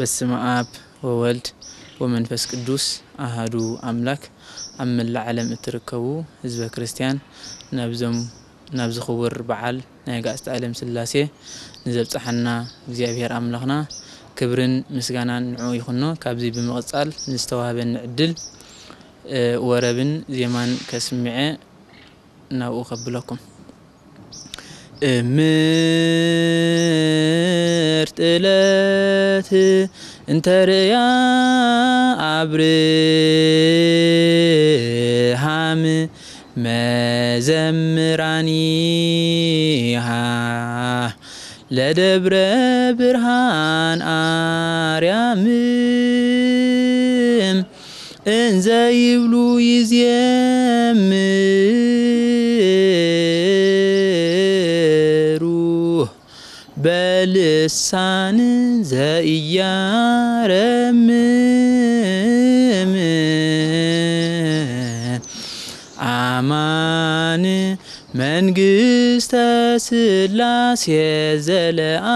በስመ አብ ወወልድ ወመንፈስ ቅዱስ አሃዱ አምላክ። ኣብ መላእ ዓለም እትርከቡ ህዝበ ክርስቲያን፣ ናብዞም ናብዚ ክቡር በዓል ናይ ኣጋዕዝተ ዓለም ስላሴ ንዘብጽሓና እግዚኣብሔር ኣምላኽና ክብርን ምስጋናን ንዕኡ ይኹኖ። ካብዚ ብምቕጻል ንዝተዋህበኒ ዕድል፣ እ፣ ወረብን ዜማን ከስምዐ ናብኡ ከብለኩም። እምርት ዕለት እንተርእያ ኣብርሃም መዘምራኒሃ ለደብረ ብርሃን ኣርያም እንዘ ይብሉ ይዜምሩ በልሳን ዘኢያረምም። አማን መንግስተ ስላሴ ዘለዓለም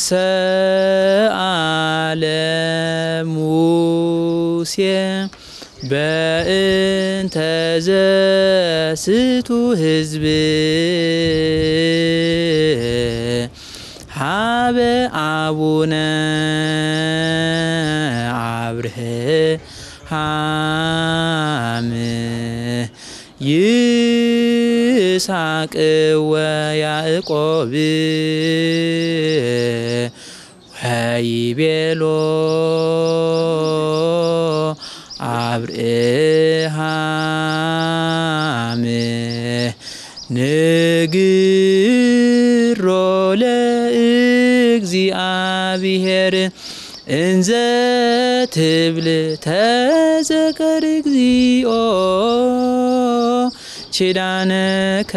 ሰአለ ሙሴ በእንተ ዘስቱ ህዝብ ሀበ አቡነ አብርሃም ይስሐቅ ወያዕቆብ ወይቤሎ አብርሃም ንግሮ ለእግዚአብሔር እንዘ ትብል ተዘከር እግዚኦ ኪዳነከ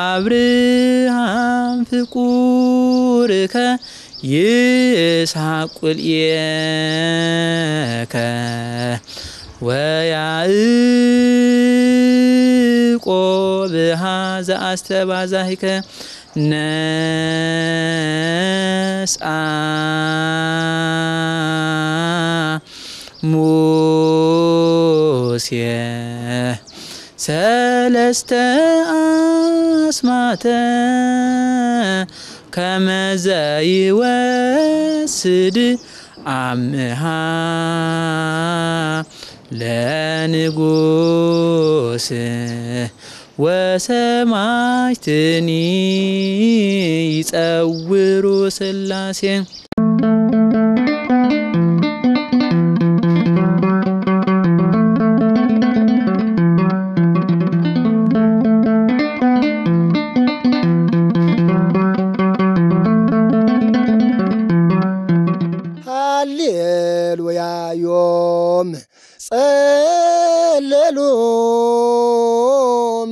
አብርሃም ፍቁርከ ይስሐቅ ቁልኤከ ወያዕቆብ ሃዘ አስተባዛሂከ ነስአ ሙሴ ሰለስተ አስማተ ከመ ዘይወስድ አምሃ ለንጉስ ወሰማዕትኒ ይጸውሩ ስላሴ። ሃሌሉያ ዮም ጸለሉ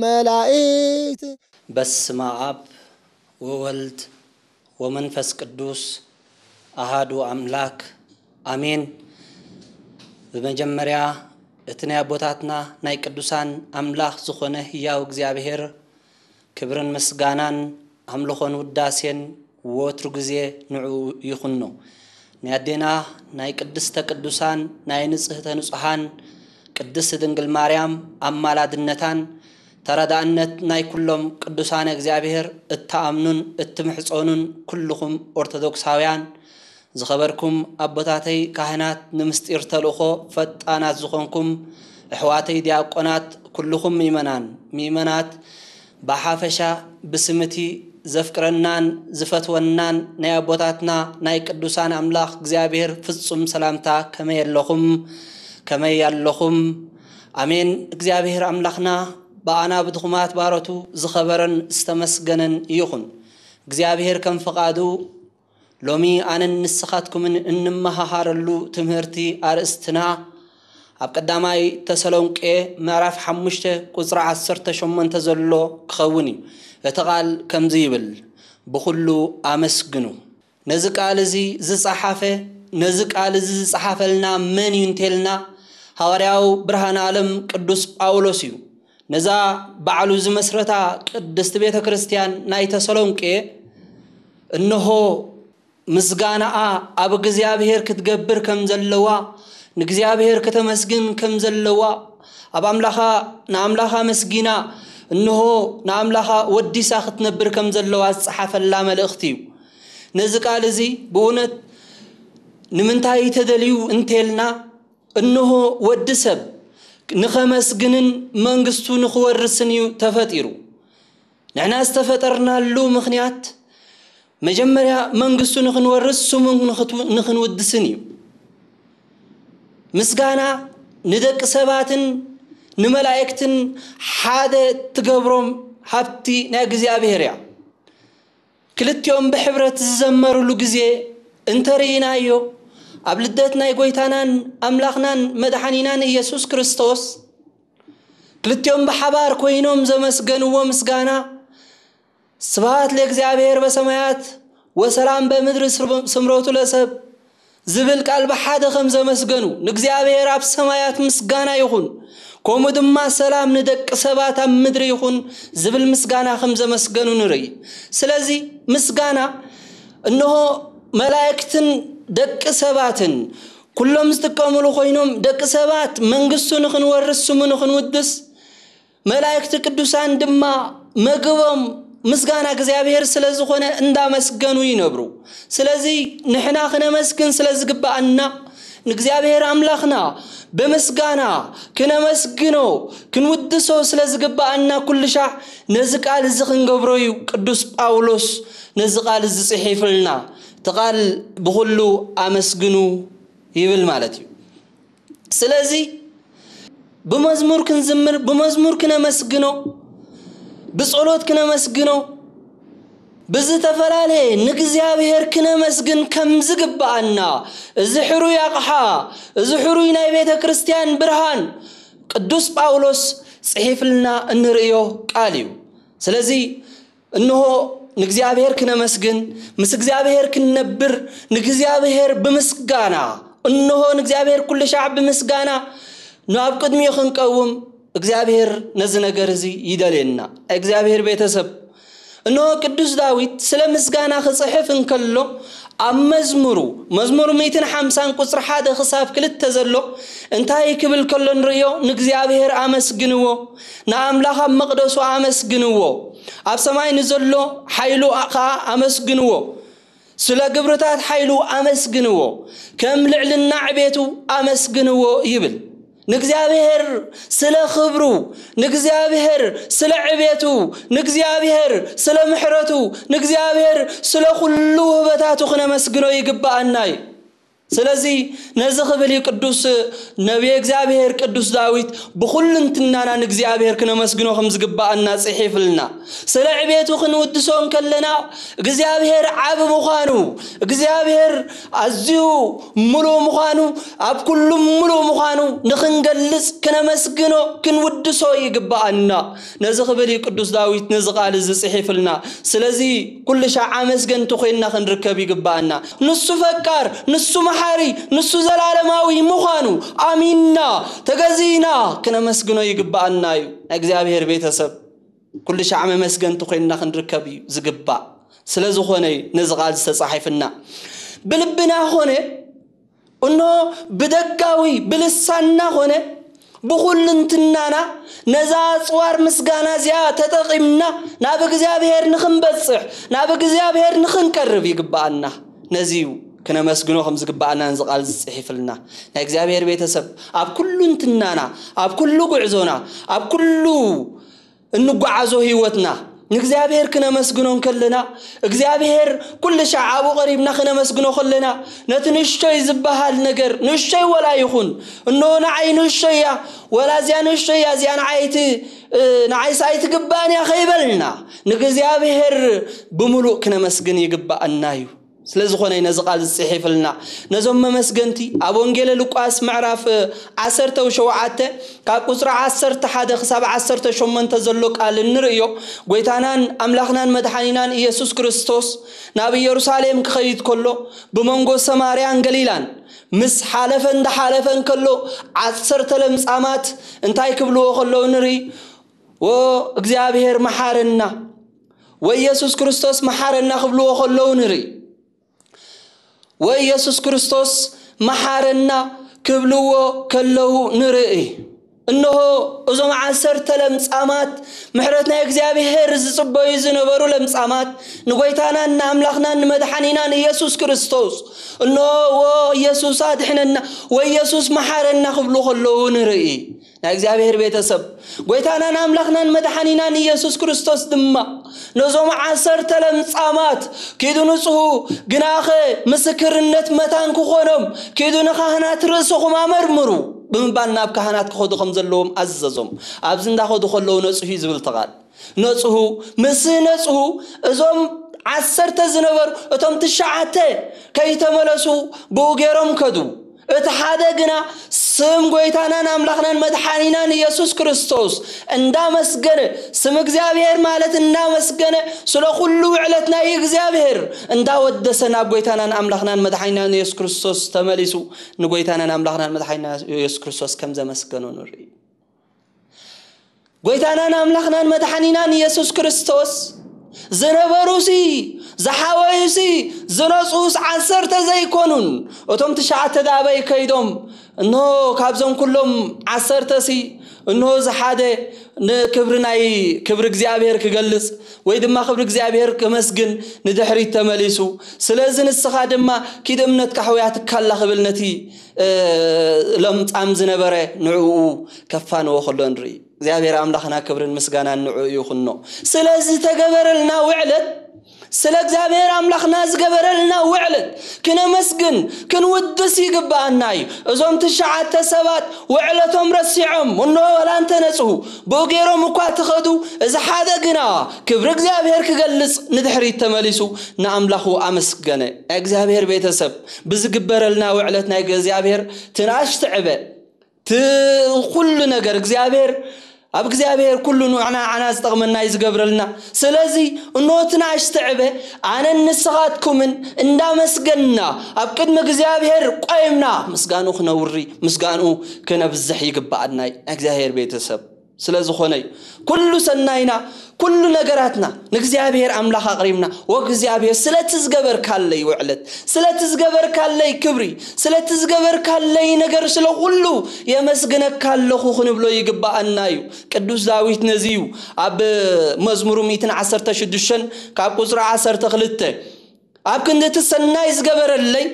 መላእክት። በስመ አብ ወወልድ ወመንፈስ ቅዱስ አሃዱ አምላክ አሜን። ብመጀመርያ እቲ ናይ ኣቦታትና ናይ ቅዱሳን ኣምላኽ ዝኾነ ህያው እግዚኣብሔር ክብርን ምስጋናን ኣምልኾን ውዳሴን ወትሩ ግዜ ንዕኡ ይኹኖ። ናይ ኣዴና ናይ ቅድስተ ቅዱሳን ናይ ንጽህተ ንጹሃን ቅድስት ድንግል ማርያም ኣማላድነታን ተረዳእነት ናይ ኩሎም ቅዱሳነ እግዚኣብሔር እትኣምኑን እትምሕጸኑን ኩልኹም ኦርቶዶክሳውያን ዝኸበርኩም ኣቦታተይ ካህናት፣ ንምስጢር ተልእኾ ፈጣናት ዝኾንኩም ኣሕዋተይ ዲያቆናት፣ ኩልኹም ምእመናን ምእመናት ብሓፈሻ ብስም እቲ ዘፍቅረናን ዝፈትወናን ናይ ኣቦታትና ናይ ቅዱሳን ኣምላኽ እግዚኣብሔር ፍጹም ሰላምታ ከመይ ኣለኹም? ከመይ ኣለኹም? ኣሜን። እግዚኣብሔር ኣምላኽና ብኣና ብድኹማት ባሮቱ ዝኸበረን ዝተመስገነን ይኹን። እግዚኣብሔር ከም ፍቓዱ ሎሚ ኣነን ንስኻትኩምን እንመሃሃረሉ ትምህርቲ ኣርእስትና ኣብ ቀዳማይ ተሰሎንቄ ምዕራፍ ሓሙሽተ ቁጽሪ ዓሰርተ ሸሞንተ ዘሎ ክኸውን እዩ። እቲ ቃል ከምዚ ይብል፣ ብኹሉ ኣመስግኑ። ነዚ ቃል እዚ ዝጸሓፈ፣ ነዚ ቃል እዚ ዝጸሓፈልና መን እዩ እንተልና፣ ሃዋርያው ብርሃነ ዓለም ቅዱስ ጳውሎስ እዩ። ነዛ ባዕሉ ዝመስረታ ቅድስቲ ቤተ ክርስቲያን ናይ ተሰሎንቄ፣ እንሆ ምስጋናኣ ኣብ እግዚኣብሔር ክትገብር ከም ዘለዋ፣ ንእግዚኣብሔር ከተመስግን ከም ዘለዋ፣ ኣብ ኣምላኻ፣ ንኣምላኻ መስጊና፣ እንሆ ንኣምላኻ ወዲሳ ክትነብር ከም ዘለዋ ዝጸሓፈላ መልእኽቲ እዩ። ነዚ ቃል እዚ ብእውነት ንምንታይ ተደልዩ እንተልና፣ እንሆ ወዲ ሰብ ንኸመስግንን መንግስቱ ንኽወርስን እዩ ተፈጢሩ። ንሕና ዝተፈጠርናሉ ምኽንያት መጀመርያ መንግስቱ ንኽንወርስ ስሙ ንኽትው-፣ ንኽንውድስን እዩ። ምስጋና ንደቂ ሰባትን ንመላእክትን ሓደ ትገብሮም ሃብቲ ናይ እግዚኣብሔር እያ። ክልቲኦም ብሕብረት ዝዘመሩሉ ግዜ እንተርኢናዮ፣ ኣብ ልደት ናይ ጎይታናን ኣምላኽናን መድሓኒናን ኢየሱስ ክርስቶስ፣ ክልቲኦም ብሓባር ኮይኖም ዘመስገንዎ ምስጋና፣ ስብሃት ለእግዚኣብሔር በሰማያት ወሰላም በምድር ስምረቱ ለሰብ ዝብል ቃል ብሓደ ከም ዘመስገኑ፣ ንእግዚኣብሔር ኣብ ሰማያት ምስጋና ይኹን፣ ከምኡ ድማ ሰላም ንደቂ ሰባት ኣብ ምድሪ ይኹን ዝብል ምስጋና ከም ዘመስገኑ ንርኢ። ስለዚ ምስጋና እንሆ መላእክትን ደቂ ሰባትን ኩሎም ዝጥቀምሉ ኮይኖም፣ ደቂ ሰባት መንግስቱ ንኽንወርስ፣ ስሙ ንኽንውድስ፣ መላእክቲ ቅዱሳን ድማ መግቦም ምስጋና እግዚኣብሔር ስለ ዝኾነ እንዳመስገኑ ይነብሩ። ስለዚ ንሕና ክነመስግን ስለ ዝግብኣና፣ ንእግዚኣብሔር ኣምላኽና ብምስጋና ክነመስግኖ፣ ክንውድሶ ስለ ዝግብኣና፣ ኩሉ ሻዕ ነዚ ቃል እዚ ክንገብሮ እዩ ቅዱስ ጳውሎስ ነዚ ቃል እዚ ጽሒፍልና። እቲ ቃል ብኹሉ ኣመስግኑ ይብል ማለት እዩ። ስለዚ ብመዝሙር ክንዝምር፣ ብመዝሙር ክነመስግኖ፣ ብጸሎት ክነመስግኖ፣ ብዝተፈላለየ ንእግዚኣብሔር ክነመስግን ከም ዝግብኣና፣ እዚ ሕሩይ ኣቕሓ፣ እዚ ሕሩይ ናይ ቤተ ክርስቲያን ብርሃን ቅዱስ ጳውሎስ ጽሒፍልና እንርእዮ ቃል እዩ። ስለዚ እንሆ ንእግዚኣብሔር ክነመስግን፣ ምስ እግዚኣብሔር ክንነብር፣ ንእግዚኣብሔር ብምስጋና፣ እንሆ ንእግዚኣብሔር ኩሉ ሻዕ ብምስጋና ናብ ቅድሚኡ ክንቀውም፣ እግዚኣብሔር ነዚ ነገር እዚ ይደልየና። ናይ እግዚኣብሔር ቤተሰብ፣ እንሆ ቅዱስ ዳዊት ስለ ምስጋና ክጽሕፍ እንከሎ፣ ኣብ መዝሙሩ፣ መዝሙር ሚእትን ሓምሳን ቁጽሪ ሓደ ክሳብ ክልተ ዘሎ እንታይ ክብል ከሎ ንርእዮ? ንእግዚኣብሔር ኣመስግንዎ፣ ንኣምላኽ ኣብ መቕደሱ ኣመስግንዎ፣ ኣብ ሰማይ ንዘሎ ሓይሉ ኸኣ ኣመስግንዎ፣ ስለ ግብርታት ሓይሉ ኣመስግንዎ፣ ከም ልዕልና ዕቤቱ ኣመስግንዎ ይብል። ንእግዚኣብሔር ስለ ክብሩ፣ ንእግዚኣብሔር ስለ ዕቤቱ፣ ንእግዚኣብሔር ስለ ምሕረቱ፣ ንእግዚኣብሔር ስለ ኩሉ ውህበታቱ ክነመስግኖ ይግብኣና እዩ። ስለዚ ነዚ ክብል እዩ ቅዱስ ነቢየ እግዚኣብሔር ቅዱስ ዳዊት ብኹልንትናና ንእግዚኣብሔር ክነመስግኖ ከም ዝግብኣና ጽሒፍልና። ስለ ዕቤቱ ክንውድሶ እንከለና እግዚኣብሔር ዓቢ ምዃኑ፣ እግዚኣብሔር ኣዝዩ ምሉእ ምዃኑ፣ ኣብ ኩሉ ምሉእ ምዃኑ ንኽንገልጽ ክነመስግኖ ክንውድሶ ይግብኣና። ነዚ ክብል እዩ ቅዱስ ዳዊት ነዚ ቃል እዚ ጽሒፍልና። ስለዚ ኩሉ ሻዕ ኣመስገንቲ ኮይንና ክንርከብ ይግብኣና። ንሱ ፈቃር፣ ንሱ መሓሪ፣ ንሱ ዘላለማዊ ምዃኑ ኣሚንና፣ ተገዚእና ክነመስግኖ ይግብኣና እዩ። ናይ እግዚኣብሔር ቤተሰብ ኩሉ ሻዕ መመስገንቲ ኮይንና ክንርከብ እዩ ዝግባእ። ስለ ዝኾነ እዩ ነዚ ቃል ዝተጻሒፍና። ብልብና ኾነ እኖ ብደጋዊ ብልሳንና ኾነ ብኹልንትናና ነዛ ኣጽዋር ምስጋና እዚኣ ተጠቒምና ናብ እግዚኣብሔር ንኽንበጽሕ፣ ናብ እግዚኣብሔር ንኽንቀርብ ይግብኣና። ነዚ እዩ ክነመስግኖ ከም ዝግብኣና ነዚ ቃል ዝጽሒፍልና። ናይ እግዚኣብሔር ቤተሰብ ኣብ ኩልንትናና፣ ኣብ ኩሉ ጉዕዞና፣ ኣብ ኩሉ እንጓዓዞ ህይወትና ንእግዚኣብሔር ክነመስግኖ እንከለና፣ እግዚኣብሔር ኩሉ ሻዕ ኣብኡ ቀሪብና ክነመስግኖ ከለና፣ ነቲ ንእሽቶይ ዝበሃል ነገር፣ ንእሽቶይ ወላ ይኹን፣ እነሆ ንዓይ ንእሽቶይ እያ፣ ወላ እዚኣ ንእሽቶይ እያ፣ እዚኣ ንዓይ እቲ፣ እ፣ ንዓይስ ኣይትግባእን እያ ከይበልና፣ ንእግዚኣብሔር ብምሉእ ክነመስግን ይግባኣና እዩ። ስለ ዝኾነ እዩ ነዚ ቃል ዝጽሒፍልና። ነዞም መመስገንቲ ኣብ ወንጌለ ሉቃስ ምዕራፍ ዓሰርተ ሸውዓተ ካብ ቁጽሪ ዓሰርተ ሓደ ክሳብ ዓሰርተ ሸሞንተ ዘሎ ቃል እንርእዮ፣ ጎይታናን ኣምላኽናን መድሓኒናን ኢየሱስ ክርስቶስ ናብ ኢየሩሳሌም ክኸይድ ከሎ፣ ብመንጎ ሰማርያን ገሊላን ምስ ሓለፈ እንዳሓለፈ እንከሎ፣ ዓሰርተ ለምጻማት እንታይ ክብልዎ ከለዉ ንርኢ? "ወእግዚኣብሔር መሓረና፣ ወኢየሱስ ክርስቶስ መሓረና" ክብልዎ ከለዉ ንርኢ። "ወኢየሱስ ክርስቶስ መሓረና" ክብልዎ ከለዉ ንርኢ። እንሆ፣ እዞም ዓሰርተ ለምጻማት፣ ምሕረት ናይ እግዚኣብሔር ዝጽበዩ ዝነበሩ ለምጻማት፣ ንጎይታናን ንኣምላኽናን ንመድሓኒናን ኢየሱስ ክርስቶስ፣ እንሆ፣ "ወ-፣ ኢየሱስ ኣድሕነና፣ ወኢየሱስ መሓረና" ክብሉ ከለዉ ንርኢ። ናይ እግዚኣብሔር ቤተሰብ፣ ጎይታናን ኣምላኽናን መድሓኒናን ኢየሱስ ክርስቶስ ድማ ነዞም ዓሰርተ ለምጻማት፣ "ኪዱ ንጽሁ፣ ግናኸ ምስክርነት መታን ክኾኖም፣ ኪዱ ንካህናት ርእስኹም ኣመርምሩ" ብምባል ናብ ካህናት ክኸዱ ከም ዘለዎም ኣዘዞም። ኣብዚ እንዳኸዱ ከለዉ ነጽሁ እዩ ዝብል እቲ ቃል። ነጽሁ፣ ምስ ነጽሁ፣ እዞም ዓሰርተ ዝነበሩ፣ እቶም ትሽዓተ ከይተመለሱ ብኡ ገይሮም ከዱ። እቲ ሓደ ግና ስም ጎይታናን ኣምላኽናን መድሓኒናን ኢየሱስ ክርስቶስ እንዳመስገነ፣ ስም እግዚኣብሔር ማለት እንዳመስገነ፣ ስለ ኩሉ ውዕለት ናይ እግዚኣብሔር እንዳወደሰ ናብ ጎይታናን ኣምላኽናን መድሓኒናን ኢየሱስ ክርስቶስ ተመሊሱ፣ ንጎይታናን ኣምላኽናን መድሓኒና ኢየሱስ ክርስቶስ ከም ዘመስገኖ ንርኢ። ጎይታናን ኣምላኽናን መድሓኒናን ኢየሱስ ክርስቶስ ዝነበሩሲ፣ ዝሓወዩሲ፣ ዝነጹስ ዓሰርተ ዘይኮኑን፣ እቶም ትሽዓተ ደኣ ኣበይ ከይዶም? እንሆ ካብዞም ኩሎም ዓሰርተሲ፣ እንሆ እዚ ሓደ ንክብሪ ናይ፣ ክብሪ እግዚኣብሔር ክገልጽ ወይ ድማ ክብሪ እግዚኣብሔር ከመስግን ንድሕሪት ተመሊሱ። ስለዚ ንስኻ ድማ ኪድ እምነትካ ሕውያትካ ኣላ ክብል ነቲ፣ እ፣ ለምጻም ዝነበረ ንዕኡ ከፋንዎ ከሎ ንርኢ። እግዚኣብሔር ኣምላኽና ክብርን ምስጋናን ንዕኡ ይኹኖ። ስለ ዝተገበረልና ውዕለት፣ ስለ እግዚኣብሔር ኣምላኽና ዝገበረልና ውዕለት ክነመስግን ክንውድስ ይግብኣና እዩ። እዞም ትሽዓተ ሰባት ውዕለቶም ረሲዖም፣ እንሆ ዋላ እንተነጽሁ፣ ብኡ ገይሮም እኳ ተኸዱ፣ እዚ ሓደ ግና ክብሪ እግዚኣብሔር ክገልጽ ንድሕሪት ተመሊሱ ንኣምላኹ ኣመስገነ። ናይ እግዚኣብሔር ቤተሰብ፣ ብዝግበረልና ውዕለት ናይ እግዚኣብሔር ትንኣሽ ትዕበ፣ ቲ-፣ ኩሉ ነገር እግዚኣብሔር፣ ኣብ እግዚኣብሔር ኩሉ ንዓና፣ ዓና ዝጠቕመና እዩ ዝገብረልና። ስለዚ እነሆ ትንኣሽ ትዕበ፣ ኣነን ንስኻትኩምን እንዳመስገንና ኣብ ቅድሚ እግዚኣብሔር ቆይምና ምስጋንኡ ክነውሪ፣ ምስጋንኡ ክነብዝሕ ይግብኣና እዩ፣ ናይ እግዚኣብሔር ቤተሰብ። ስለ ዝኾነ እዩ። ኩሉ ሰናይና፣ ኩሉ ነገራትና ንእግዚኣብሔር ኣምላኽ ኣቕሪብና፣ "ወእግዚኣብሔር፣ ስለቲ ዝገበርካለይ ውዕለት፣ ስለቲ ዝገበርካለይ ክብሪ፣ ስለቲ ዝገበርካለይ ነገር፣ ስለ ኩሉ የመስግነካ ኣለኹ" ክንብሎ ይግብኣና እዩ። ቅዱስ ዳዊት ነዚ እዩ ኣብ መዝሙሩ ሚእትን ዓሰርተ ሽዱሽተን ካብ ቁጽሪ ዓሰርተ ክልተ፣ "ኣብ ክንዲ እቲ ሰናይ ዝገበረለይ፣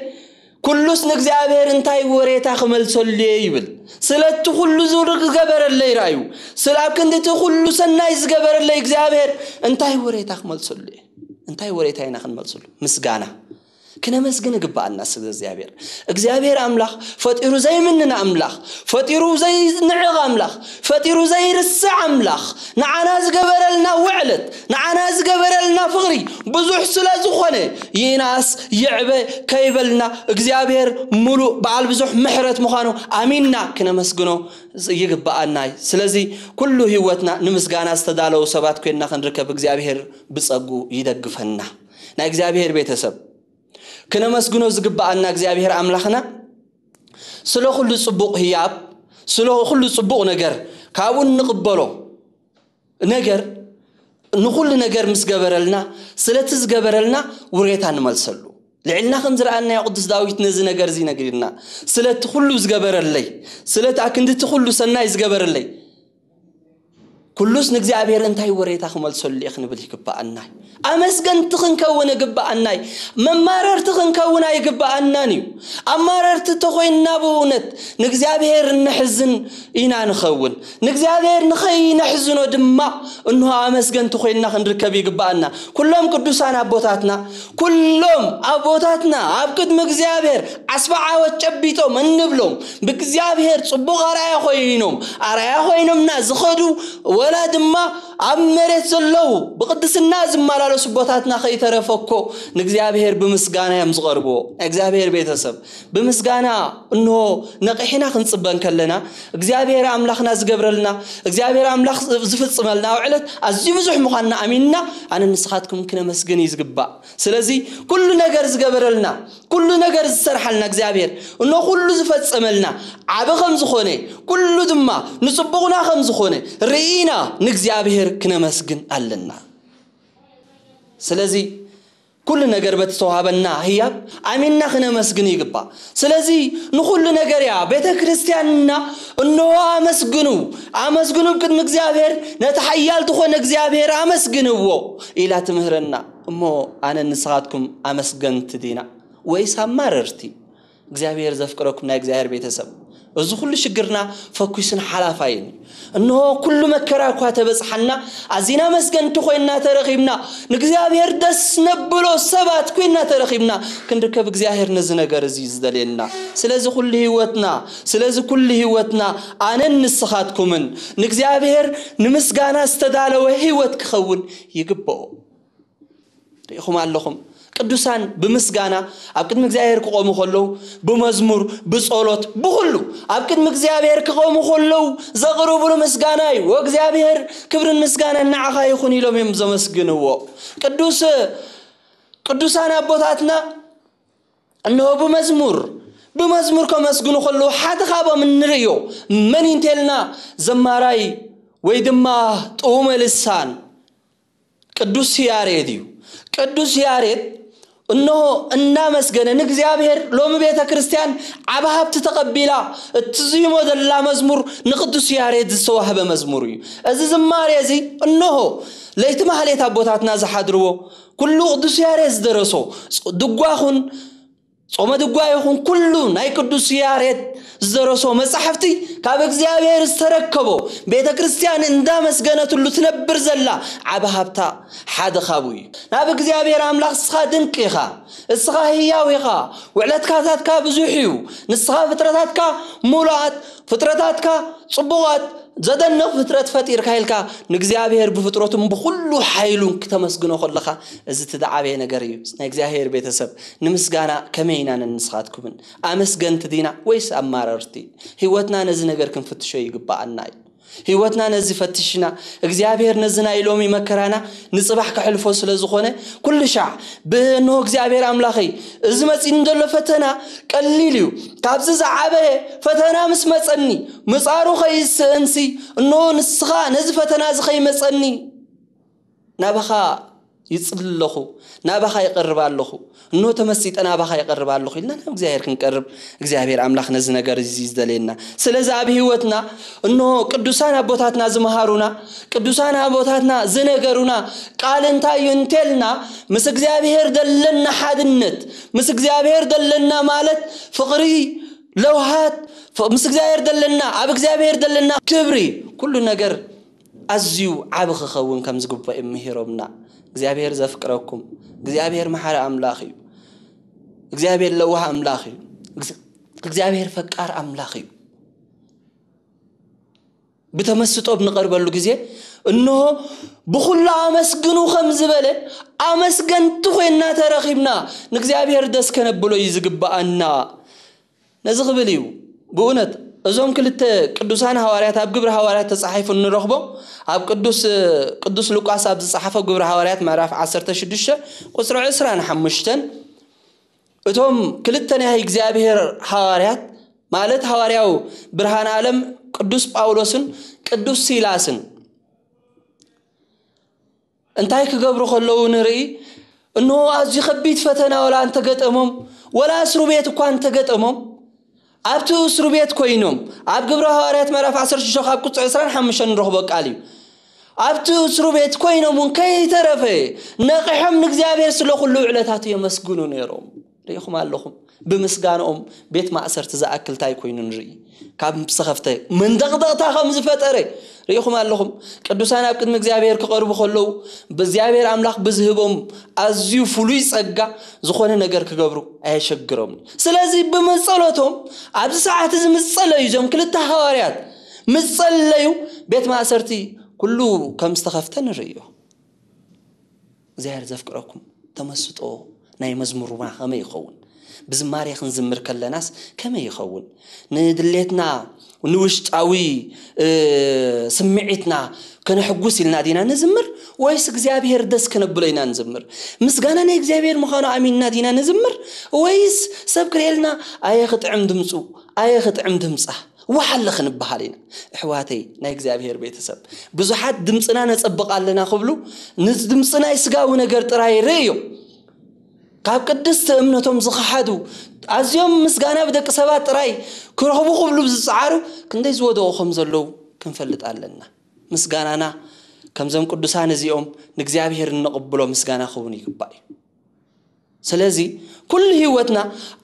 ኩሉስ ንእግዚኣብሔር እንታይ ወሬታ ክመልሰሉ እየ?" ይብል። ስለቲ ኩሉ ዝገበረለይ ርኣዩ። ስለ ኣብ ክንዲ እቲ ኩሉ ሰናይ ዝገበረለይ እግዚኣብሔር እንታይ ወሬታ ክመልሰሉ እየ? እንታይ ወሬታ ኢና ክንመልሰሉ? ምስጋና። ክነመስግን ይግብኣና ስለ እግዚኣብሔር። እግዚኣብሔር ኣምላኽ ፈጢሩ ዘይምንን ኣምላኽ፣ ፈጢሩ ዘይንዕቕ ኣምላኽ፣ ፈጢሩ ዘይርስዕ ኣምላኽ፣ ንዓና ዝገበረልና ውዕለት፣ ንዓና ዝገበረልና ፍቕሪ ብዙሕ ስለ ዝኾነ፣ ይናስ ይዕበ ከይበልና እግዚኣብሔር ምሉእ በዓል ብዙሕ ምሕረት ምዃኑ ኣሚንና ክነመስግኖ ይግብኣና እዩ። ስለዚ ኩሉ ህይወትና ንምስጋና ዝተዳለዉ ሰባት ኮይንና ክንርከብ እግዚኣብሔር ብጸጉ ይደግፈና። ናይ እግዚኣብሔር ቤተሰብ፣ ክነመስግኖ ዝግብኣና እግዚኣብሔር ኣምላኽና ስለ ኩሉ ጽቡቕ ህያብ፣ ስለ ኩሉ ጽቡቕ ነገር፣ ካብኡ እንቕበሎ ነገር፣ ንኹሉ ነገር ምስ ገበረልና፣ ስለቲ ዝገበረልና ውሬታ ንመልሰሉ። ልዕልና ከም ዝረኣናዮ ቅዱስ ዳዊት ነዚ ነገር እዚ ነጊርና፣ "ስለቲ ኩሉ ዝገበረለይ፣ ስለቲ ኣክንድቲ ኩሉ ሰናይ ዝገበረለይ፣ ኩሉስ ንእግዚኣብሔር እንታይ ወሬታ ክመልሰሉ እየ?" ክንብል ይግብኣና እዩ። ኣመስገንቲ ክንከውን ይግብኣና እዩ። መማረርቲ ክንከውን ኣይግብኣናን እዩ። ኣማረርቲ ተኾይንና ብእውነት ንእግዚኣብሔር እነሕዝን ኢና ንኸውን። ንእግዚኣብሔር ንኸይነሕዝኖ ድማ እንሆ ኣመስገንቲ ኮይንና ክንርከብ ይግብኣና። ኩሎም ቅዱሳን ኣቦታትና፣ ኩሎም ኣቦታትና ኣብ ቅድሚ እግዚኣብሔር ዓስቢ ዓወት ጨቢጦም እንብሎም ብእግዚኣብሔር ጽቡቕ ኣርኣያ ኮይኖም፣ ኣርኣያ ኮይኖምና ዝኸዱ፣ ወላ ድማ ኣብ መሬት ዘለዉ ብቕድስና ዝመላለሱ ኣቦታትና ከይተረፈ እኮ ንእግዚኣብሔር ብምስጋና እዮም ዝቐርብዎ። ናይ እግዚኣብሔር ቤተሰብ፣ ብምስጋና እንሆ ነቒሕና ክንጽበ እንከለና፣ እግዚኣብሔር ኣምላኽና ዝገብረልና፣ እግዚኣብሔር ኣምላኽ ዝፍጽመልና ኣብ ዕለት ኣዝዩ ብዙሕ ምዃንና ኣሚንና፣ ኣነ ንስኻትኩም ክነመስግን እዩ ዝግባእ። ስለዚ ኩሉ ነገር ዝገበረልና፣ ኩሉ ነገር ዝሰርሓልና እግዚኣብሔር፣ እኖ ኩሉ ዝፈጸመልና ዓቢ ከም ዝኾነ፣ ኩሉ ድማ ንጽቡቕና ከም ዝኾነ ርኢና ንእግዚኣብሔር ክነመስግን ኣለና። ስለዚ ኩሉ ነገር በቲ ዝተዋሃበና ህያብ ኣሚንና ክነመስግን ይግባእ። ስለዚ ንኹሉ ነገር እያ ቤተ ክርስቲያንና፣ "እንሆ ኣመስግኑ፣ ኣመስግኑ ቅድሚ እግዚኣብሔር፣ ነቲ ሓያል ዝኾነ እግዚኣብሔር ኣመስግንዎ" ኢላ ትምህረና። እሞ ኣነ ንስኻትኩም ኣመስገንቲ ዲና ወይስ ኣማረርቲ? እግዚኣብሔር ዘፍቅረኩም ናይ እግዚኣብሔር ቤተሰብ፣ እዚ ኩሉ ሽግርና ፈኲስን ሓላፋይን እዩ። እንሆ ኩሉ መከራ እኳ ተበጽሓና፣ ኣዚና መስገንቲ ኮይንና ተረኺብና፣ ንእግዚኣብሔር ደስ ነብሎ ሰባት ኮይንና ተረኺብና ክንርከብ እግዚኣብሔር ነዚ ነገር እዚ እዩ ዝደልየና። ስለዚ ኩሉ ህይወትና፣ ስለዚ ኩሉ ህይወትና ኣነን ንስኻትኩምን ንእግዚኣብሔር ንምስጋና ዝተዳለወ ህይወት ክኸውን ይግብኦ። ርኢኹም ኣለኹም። ቅዱሳን ብምስጋና ኣብ ቅድሚ እግዚኣብሔር ክቖሙ ከለዉ፣ ብመዝሙር፣ ብጸሎት፣ ብኹሉ ኣብ ቅድሚ እግዚኣብሔር ክቖሙ ከለዉ ዘቕርብሉ ምስጋና እዩ። "ወእግዚኣብሔር ክብርን ምስጋናን ንዓኻ ይኹን" ኢሎም እዮም ዘመስግንዎ። ቅዱስ፣ ቅዱሳን ኣቦታትና እንሆ ብመዝሙር፣ ብመዝሙር ከመስግኑ ከለዉ ሓደ ካብኦም እንርእዮ መን እዩ እንተልና ዘማራይ ወይ ድማ ጥዑመ ልሳን ቅዱስ ያሬድ እዩ። ቅዱስ ያሬድ እንሆ እናመስገነ ንእግዚኣብሔር ሎሚ ቤተ ክርስቲያን ዓቢ ሃብቲ ተቐቢላ እትዝይሞ ዘላ መዝሙር ንቅዱስ ያሬድ ዝተዋህበ መዝሙር እዩ። እዚ ዝማሬ እዚ እንሆ ለይቲ ማህሌት ኣቦታትና ዝሓድርዎ ኩሉ ቅዱስ ያሬድ ዝደረሶ ድጓኹን ጾመ ድጓ ይኹን ኩሉ ናይ ቅዱስ ያሬድ ዝደረሶ መጻሕፍቲ ካብ እግዚኣብሔር ዝተረከቦ ቤተ ክርስቲያን እንዳመስገነትሉ ትነብር ዘላ ዓቢ ሃብታ ሓደ ካብኡ እዩ። ናብ እግዚኣብሔር ኣምላኽ እስኻ ድንቅ ኢኻ፣ እስኻ ህያው ኢኻ፣ ውዕለትካታትካ ብዙሕ እዩ፣ ንስኻ ፍጥረታትካ ሙሉኣት፣ ፍጥረታትካ ጽቡቓት፣ ዘደንቕ ፍጥረት ፈጢርካ ኢልካ ንእግዚኣብሔር ብፍጥረቱን ብኹሉ ሓይሉን ክተመስግኖ ከለኻ፣ እዚ እቲ ዝዓበየ ነገር እዩ። ናይ እግዚኣብሔር ቤተሰብ፣ ንምስጋና ከመይ ኢና ነንስኻትኩምን? ኣመስገንቲ ዲና ወይስ ኣማረርቲ? ህይወትና ነዚ ነገር ክንፍትሾ ይግብኣና እዩ። ህይወትና ነዚ ፈትሽና፣ እግዚኣብሔር ነዚ ናይ ሎሚ መከራና ንጽባሕ ከሕልፎ ስለ ዝኾነ፣ ኩሉ ሻዕ ብእንሆ እግዚኣብሔር ኣምላኸይ፣ እዚ መጺእኒ ዘሎ ፈተና ቀሊል እዩ። ካብዚ ዝዓበየ ፈተና ምስ መጸኒ፣ ምጻሩ ከይስእንሲ፣ እንሆ ንስኻ ነዚ ፈተና እዚ ከይመጸኒ ናባኻ ይጽሊ ኣለኹ፣ ናባኻ ይቐርብ ኣለኹ፣ እንሆ ተመሲጠ ናባኻ ይቐርብ ኣለኹ ኢልና ናብ እግዚኣብሔር ክንቀርብ እግዚኣብሔር ኣምላኽ ነዚ ነገር እዚ እዩ ዝደልየና። ስለዚ ኣብ ህይወትና እንሆ ቅዱሳን ኣቦታትና ዝመሃሩና፣ ቅዱሳን ኣቦታትና ዝነገሩና ቃል እንታይ እዩ እንተልና፣ ምስ እግዚኣብሔር ዘለና ሓድነት፣ ምስ እግዚኣብሔር ዘለና ማለት ፍቕሪ፣ ለውሃት፣ ፍ-፣ ምስ እግዚኣብሔር ዘለና፣ ኣብ እግዚኣብሔር ዘለና ክብሪ፣ ኩሉ ነገር ኣዝዩ ዓቢ ክኸውን ከም ዝግባእ እዮም ምሂሮምና። እግዚኣብሔር ዘፍቅረኩም፣ እግዚኣብሔር መሓሪ ኣምላኽ እዩ። እግዚኣብሔር ለዋህ ኣምላኽ እዩ። እግዝ-፣ እግዚኣብሔር ፈቃር ኣምላኽ እዩ። ብተመስጦ ብንቐርበሉ ግዜ፣ እንሆ ብኹሉ ኣመስግኑ ከም ዝበለ፣ ኣመስገንቲ ኮይንና ተረኺብና ንእግዚኣብሔር ደስ ከነብሎ እዩ ዝግብኣና። ነዚ ክብል እዩ። ብእውነት እዞም ክልተ ቅዱሳን ሃዋርያት ኣብ ግብሪ ሃዋርያት ተጻሒፉ እንረኽቦ፣ ኣብ ቅዱስ፣ ቅዱስ ሉቃስ ኣብ ዝጸሓፎ ግብሪ ሃዋርያት ምዕራፍ ዓሰርተ ሽዱሽተ ቁጽሪ ዕስራን ሓሙሽተን፣ እቶም ክልተ ናይ እግዚኣብሔር ሃዋርያት ማለት ሃዋርያው ብርሃን ዓለም ቅዱስ ጳውሎስን ቅዱስ ሲላስን እንታይ ክገብሩ ከለዉ ንርኢ? እንሆ ኣዝዩ ከቢድ ፈተና ወላ እንተገጠሞም፣ ወላ እስሩ ቤት እኳ እንተገጠሞም፣ ኣብቲ እስሩ ቤት ኮይኖም፣ ኣብ ግብረ ሃዋርያት ምዕራፍ ዓሰርተ ሽዱሽተ ካብ ቁጽሪ ዕስራን ሓሙሽተን ንረኽቦ ቃል እዩ። ኣብቲ እስሩ ቤት ኮይኖም እውን ከይተረፈ ነቒሖም ንእግዚኣብሔር ስለ ኩሉ ውዕለታቱ የመስግኑ ነይሮም። ርኢኹም ኣለኹም። ብምስጋንኦም ቤት ማእሰርቲ ዝኣክል እንታይ ኮይኑ ንርኢ? ካብ ዝተኸፍተ መንደቕደቕታ ከም ዝፈጠረ ርኢኹም ኣለኹም። ቅዱሳን ኣብ ቅድሚ እግዚኣብሔር ክቐርቡ ከለዉ፣ ብእግዚኣብሔር ኣምላኽ ብዝህቦም ኣዝዩ ፍሉይ ጸጋ ዝኾነ ነገር ክገብሩ ኣየሸግሮምን። ስለዚ ብምጸሎቶም ኣብዚ ሰዓት እዚ ምጸለዩ፣ እዞም ክልተ ሃዋርያት ምጸለዩ፣ ቤት ማእሰርቲ ኩሉ ከም ዝተኸፍተ ንርእዮ። እግዚኣብሔር ዘፍቅረኩም ተመስጦ ናይ መዝሙርና ከመይ ይኸውን? ብዝማሬ ክንዝምር ከለናስ ከመይ ይኸውን? ንድሌትና ንውሽጣዊ ስምዒትና ከነሕጉስ ኢልና ዲና ንዝምር፣ ወይስ እግዚኣብሔር ደስ ከነብሎ ኢና ንዝምር? ምስጋና ናይ እግዚኣብሔር ምዃኑ ኣሚንና ዲና ንዝምር፣ ወይስ ሰብ ክርእየልና ኣየ ክጥዕም ድምፁ፣ ኣየ ክጥዕም ድምፃ፣ ዋሓለ ክንበሃል ኢና? ኣሕዋተይ ናይ እግዚኣብሔር ቤተሰብ፣ ብዙሓት ድምፅና ነፀብቕ ኣለና ክብሉ ንድምፂ ናይ ስጋዊ ነገር ጥራይ ርእዮም። ካብ ቅድስቲ እምነቶም ዝኸሓዱ፣ ኣዝዮም ምስጋና ብደቂ ሰባት ጥራይ ክረኽቡ ክብሉ ዝፀዓሩ ክንደይ ዝወደቑ ከም ዘለዉ ክንፈልጥ ኣለና። ምስጋናና ከምዞም ቅዱሳን እዚኦም ንእግዚኣብሔር እንቕብሎ ምስጋና ክኸውን ይግባእ እዩ። ስለዚ ኩሉ ህይወትና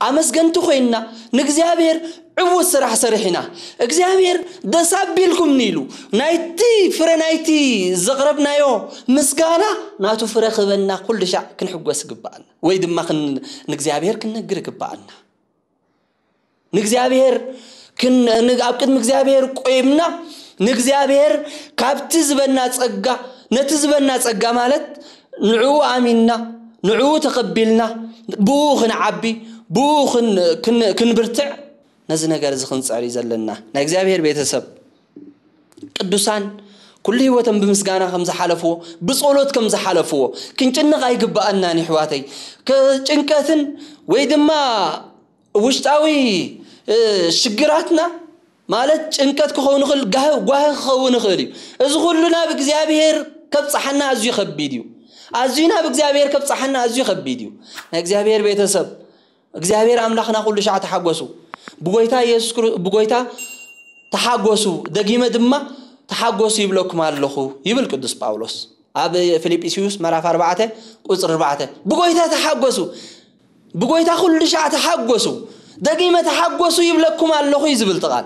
ኣመስገንቲ ኮይንና ንእግዚኣብሔር ዕዉት ስራሕ ሰሪሕና እግዚኣብሔር ደስ ኣቢልኩምኒ ኢሉ ናይቲ ፍረ ናይቲ ዘቕረብናዮ ምስጋና ናቱ ፍረ ክበና ኩሉ ሻዕ ክንሕጎስ ይግባኣና፣ ወይ ድማ ክን- ንእግዚኣብሔር ክንነግር ይግባኣና። ንእግዚኣብሔር ክን- ን- ኣብ ቅድሚ እግዚኣብሔር ቆይምና ንእግዚኣብሔር ካብቲ ዝበና ጸጋ፣ ነቲ ዝበና ጸጋ ማለት ንዕኡ ኣሚንና ንዕኡ ተቐቢልና ብኡ ክንዓቢ ብኡ ክን- ክን- ክንብርትዕ ነዚ ነገር እዚ ክንጽዕር እዩ ዘለና። ናይ እግዚኣብሔር ቤተሰብ ቅዱሳን ኩሉ ህይወቶም ብምስጋና ከም ዝሓለፍዎ ብጸሎት ከም ዝሓለፍዎ ክንጭነቕ ኣይግባኣናን ይሕዋተይ። ጭንቀትን ወይ ድማ ውሽጣዊ ሽግራትና ማለት ጭንቀት ክኸውን ይኽእል፣ ጓሂ ክኸውን ይኽእል እዩ። እዚ ኩሉ ናብ እግዚኣብሔር ከብጽሓና ኣዝዩ ከቢድ እዩ። ኣዝዩ ናብ እግዚኣብሔር ከብጽሓና ኣዝዩ ከቢድ እዩ። ናይ እግዚኣብሔር ቤተሰብ እግዚኣብሔር ኣምላኽና ኩሉ ሻዕ ተሓጎሱ። ብጎይታ የሱስ ብጎይታ ተሓጎሱ፣ ደጊመ ድማ ተሓጎሱ ይብለኩም ኣለኹ ይብል ቅዱስ ጳውሎስ ኣብ ፊልጵስዩስ መራፍ ኣርባዕተ ቁፅሪ ኣርባዕተ። ብጎይታ ተሓጎሱ፣ ብጎይታ ኩሉ ሻዕ ተሓጎሱ፣ ደጊመ ተሓጎሱ ይብለኩም ኣለኹ እዩ ዝብል ቃል።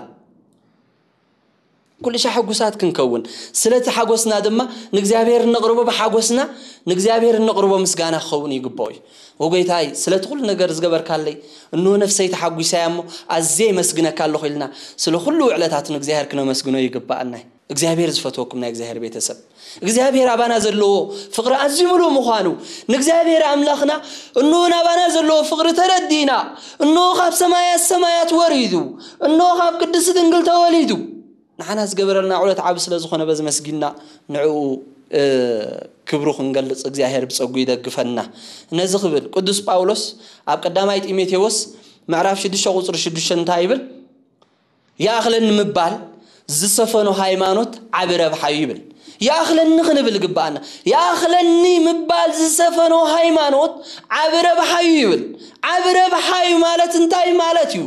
ኩሉ ሻዕ ሕጉሳት ክንከውን ስለቲ ሓጎስና ድማ ንእግዚኣብሔር እንቕርቦ ብሓጎስና ንእግዚኣብሔር እንቕርቦ ምስጋና ክኸውን ይግባኦ እዩ። ወጎይታይ ስለቲ ኩሉ ነገር ዝገበርካለይ እንሆ ነፍሰይ ተሓጒሳ እያ እሞ ኣዝየ የመስግነካ ኣለኹ ኢልና ስለ ኩሉ ውዕለታቱ ንእግዚኣብሔር ክነመስግኖ ይግባኣና እዩ። እግዚኣብሔር ዝፈትወኩም ናይ እግዚኣብሔር ቤተሰብ እግዚኣብሔር ኣባና ዘለዎ ፍቕሪ ኣዝዩ ምሉእ ምዃኑ ንእግዚኣብሔር ኣምላኽና እንሆ ናባና ዘለዎ ፍቕሪ ተረዲእና እንሆ ካብ ሰማያት ሰማያት ወሪዱ እንሆ ካብ ቅድስቲ ድንግል ተወሊዱ ንዓና ዝገበረልና ዕለት ዓቢ ስለ ዝኾነ በዚ መስጊንና ንዕኡ ክብሩ ክንገልጽ እግዚኣብሔር ብጸጉ ይደግፈና። ነዚ ክብል ቅዱስ ጳውሎስ ኣብ ቀዳማይ ጢሞቴዎስ ምዕራፍ ሽዱሽተ ቁጽሪ ሽዱሽተ እንታይ ይብል? ይኣኽለኒ ምባል ዝሰፈኖ ሃይማኖት ዓቢ ረብሓ እዩ ይብል። ይኣኽለኒ ክንብል ግባኣና። ይኣኽለኒ ምባል ዝሰፈኖ ሃይማኖት ዓቢ ረብሓ እዩ ይብል። ዓቢ ረብሓ እዩ ማለት እንታይ ማለት እዩ?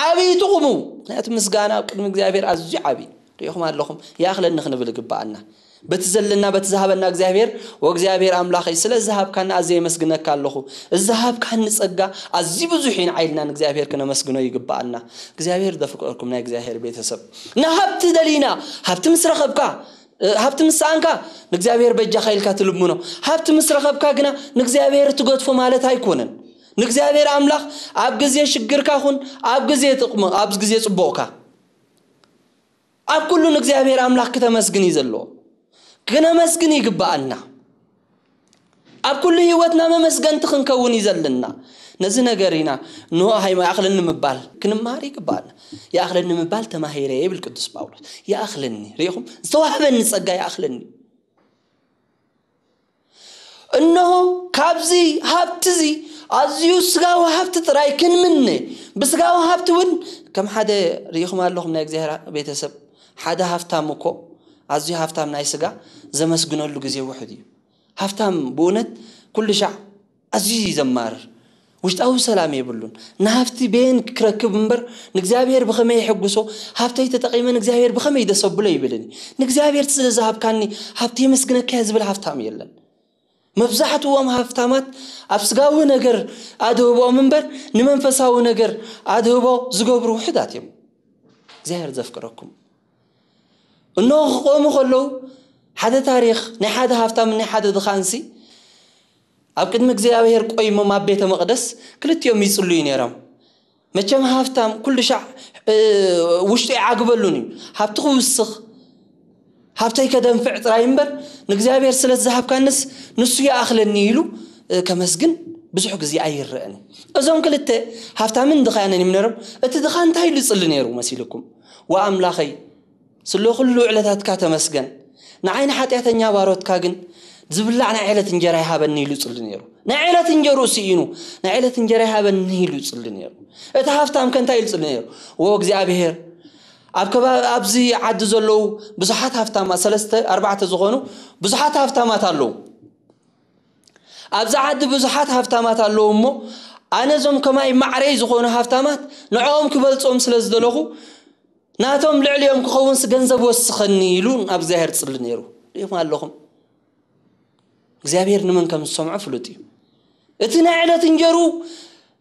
ዓቢ ጥቕሙ። ምክንያቱ ምስጋና ኣብ ቅድሚ እግዚኣብሔር ኣዝዩ ዓቢ እዩ። ሪኢኹም ኣለኹም። ይኣኽለኒ ክንብል ግባኣና። በቲ ዘለና በቲ ዝሃበና እግዚኣብሔር ወእግዚኣብሔር ኣምላኸይ ስለ ዝሃብካኒ ኣዝየ የመስግነካ ኣለኹ። እዚ ዝሃብካኒ ጸጋ ኣዝዩ ብዙሕ እዩ። ንዓይልና ንእግዚኣብሔር ክነመስግኖ ይግባኣና። እግዚኣብሔር ዘፍቀርኩም ናይ እግዚኣብሔር ቤተሰብ ንሃብቲ ደሊና ሃብቲ ምስ ረኸብካ ሃብቲ ምስ ሰኣንካ ንእግዚኣብሔር በጃኻ ኢልካ ትልምኖ። ሃብቲ ምስ ረኸብካ ግና ንእግዚኣብሔር ትገድፎ ማለት ኣይኮነን። ንእግዚኣብሔር ኣምላኽ ኣብ ግዜ ሽግርካ ኹን ኣብ ግዜ ጥቕሚ ኣብ ግዜ ጽቡቕካ ኣብ ኩሉ ንእግዚኣብሔር ኣምላኽ ክተመስግን እዩ ዘለዎ። ክነመስግን ይግባኣና። ኣብ ኩሉ ህይወትና መመስገንቲ ክንከውን እዩ ዘለና። ነዚ ነገር ኢና ንሆ ሃይማ ይኣኽለኒ ምባል ክንመሃር ይግባኣና። ይኣኽለኒ ምባል ተማሂረ ይብል ቅዱስ ጳውሎስ። ይኣኽለኒ ሪኢኹም ዝተዋህበኒ ጸጋ ይኣኽለኒ። እነሆ ካብዚ ሃብቲ እዚ ኣዝዩ ስጋዊ ሃብቲ ጥራይ ክንምነ ብስጋዊ ሃብቲ እውን ከም ሓደ ርኢኹም ኣለኹም ናይ እግዚኣብሔር ቤተሰብ ሓደ ሃብታም እኮ ኣዝዩ ሃብታም ናይ ስጋ ዘመስግነሉ ግዜ ውሑድ እዩ። ሃብታም ብእውነት ኩሉ ሻዕ ኣዝዩ እዩ ዘማርር። ውሽጣዊ ሰላም የብሉን። ንሃብቲ በየን ክረክብ እምበር ንእግዚኣብሔር ብኸመይ የሐጉሶ? ሃብተይ ተጠቒመ ንእግዚኣብሔር ብኸመይ ደሰብሎ ይብልን። ንእግዚኣብሔር ስለ ዝሃብካኒ ሃብቲ የመስግነካ እየ ዝብል ሃብታም የለን። መብዛሕትዎም ሃብታማት ኣብ ስጋዊ ነገር ኣድህቦም እምበር ንመንፈሳዊ ነገር ኣድህቦ ዝገብሩ ውሕዳት እዮም። እግዚኣብሔር ዘፍቅረኩም። እነሆ ክቆሙ ከለዉ ሓደ ታሪኽ ናይ ሓደ ሃብታም ናይ ሓደ ድኻንሲ ኣብ ቅድሚ እግዚኣብሔር ቆይሞም ኣብ ቤተ መቕደስ ክልቲኦም ይጽልዩ ነይሮም። መቸም ሃብታም ኩሉ ሻዕ ውሽጡ ይዓግበሉን እዩ። ሃብቲ ክውስኽ ሃብተይ ከደንፍዕ ጥራይ እምበር ንእግዚኣብሔር ስለ ዝሃብካንስ ንሱ ይኣኽለኒ ኢሉ ከመስግን ብዙሕ ግዜ ኣይረአን። እዞም ክልተ ሃብታምን ድኻያንን እዮም ነይሮም። እቲ ድኻ እንታይ ኢሉ ይጽሊ ነይሩ መሲልኩም? ወኣምላኸይ ስለ ኩሉ ውዕለታትካ ተመስገን፣ ንዓይ ንሓጢኣተኛ ባሮትካ ግን ዝብላዕ ናይ ዕለት እንጀራ ይሃበኒ ኢሉ ይጽሊ ነይሩ። ናይ ዕለት እንጀርኡ ስኢኑ ናይ ዕለት እንጀራ ይሃበኒ ኢሉ ይጽሊ ነይሩ። እቲ ሃብታም ከ እንታይ ኢሉ ይጽሊ ነይሩ? ወ እግዚኣብሔር ኣብ ከባቢ ኣብዚ ዓዲ ዘለዉ ብዙሓት ሃብታማት ሰለስተ ኣርባዕተ ዝኾኑ ብዙሓት ሃብታማት ኣለዉ። ኣብዚ ዓዲ ብዙሓት ሃብታማት ኣለዉ እሞ ኣነ እዞም ከማይ ማዕረይ ዝኾኑ ሃብታማት ንዕኦም ክበልጾም ስለ ዝደለኹ ናቶም ልዕሊኦም ክኸውንስ ገንዘብ ወስኸኒ ኢሉ ናብ እግዚኣብሔር ጽሊ ነይሩ። ሪኢኹም ኣለኹም እግዚኣብሔር ንመን ከም ዝሰምዖ ፍሉጥ እዩ። እቲ ናይ ዕለት እንጀሩ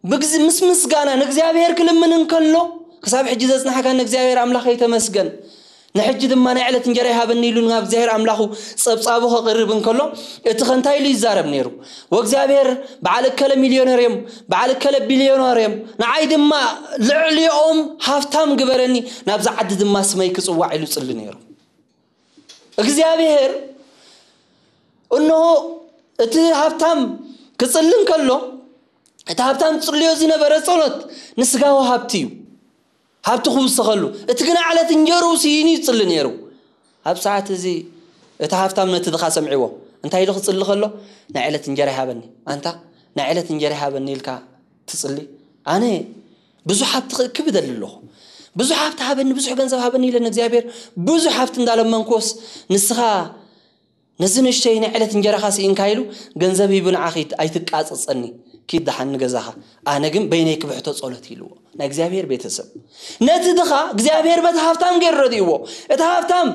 ብግዝ ምስ ምስጋና ንእግዚኣብሔር ክልምን እንከሎ ክሳብ ሕጂ ዘጽናሕካ ንእግዚኣብሔር ኣምላኸይ ተመስገን፣ ንሕጂ ድማ ናይ ዕለት እንጀራ ይሃበኒ ኢሉ ናብ እግዚኣብሔር ኣምላኹ ጸብጻቡ ከቕርብ እንከሎ እቲ ኸንታይ ኢሉ ይዛረብ ነይሩ? ወእግዚኣብሔር በዓል እከለ ሚልዮነር እዮም፣ በዓል እከለ ቢልዮነር እዮም፣ ንዓይ ድማ ልዕሊኦም ሃብታም ግበረኒ፣ ናብዛ ዓዲ ድማ ስመይ ክጽዋዕ ኢሉ ጽሊ ነይሩ። እግዚኣብሔር እንሆ እቲ ሃብታም ክጽሊ እንከሎ እቲ ሃብታም ጽልዮ ዝነበረ ጸሎት ንስጋዊ ሃብቲ እዩ። ሃብቲ ክውሰኸሉ እቲ ግና ዕለት እንጀርኡ ስኢኑ ይጽሊ ነይሩ። ኣብ ሰዓት እዚ እቲ ሃብታም ነቲ ድኻ ሰምዕዎ እንታይ ኢሉ ክጽሊ ከሎ ናይ ዕለት እንጀራ ይሃበኒ ኣንታ ናይ ዕለት እንጀራ ይሃበኒ ኢልካ ትጽሊ ኣነ ብዙሕ ሃብቲ ክእክብ እደሊ ኣለኹ። ብዙሕ ሃብቲ ሃበኒ ብዙሕ ገንዘብ ሃበኒ ኢለ ንእግዚኣብሔር ብዙሕ ሃብቲ እንዳለመንኩዎስ ንስኻ ነዚ ንእሽተይ ናይ ዕለት እንጀራኻ ስኢንካ ኢሉ ገንዘብ ሂቡ ንዓኺ ኣይትቃጸጸኒ ኪድ ደሓን ንገዛኻ ኣነ ግን በይነይ ክብሕቶ ጸሎት ኢልዎ ናይ እግዚኣብሔር ቤተሰብ ነቲ ድኻ እግዚኣብሔር በቲ ሃብታም ገይሩ ረድእዎ እቲ ሃብታም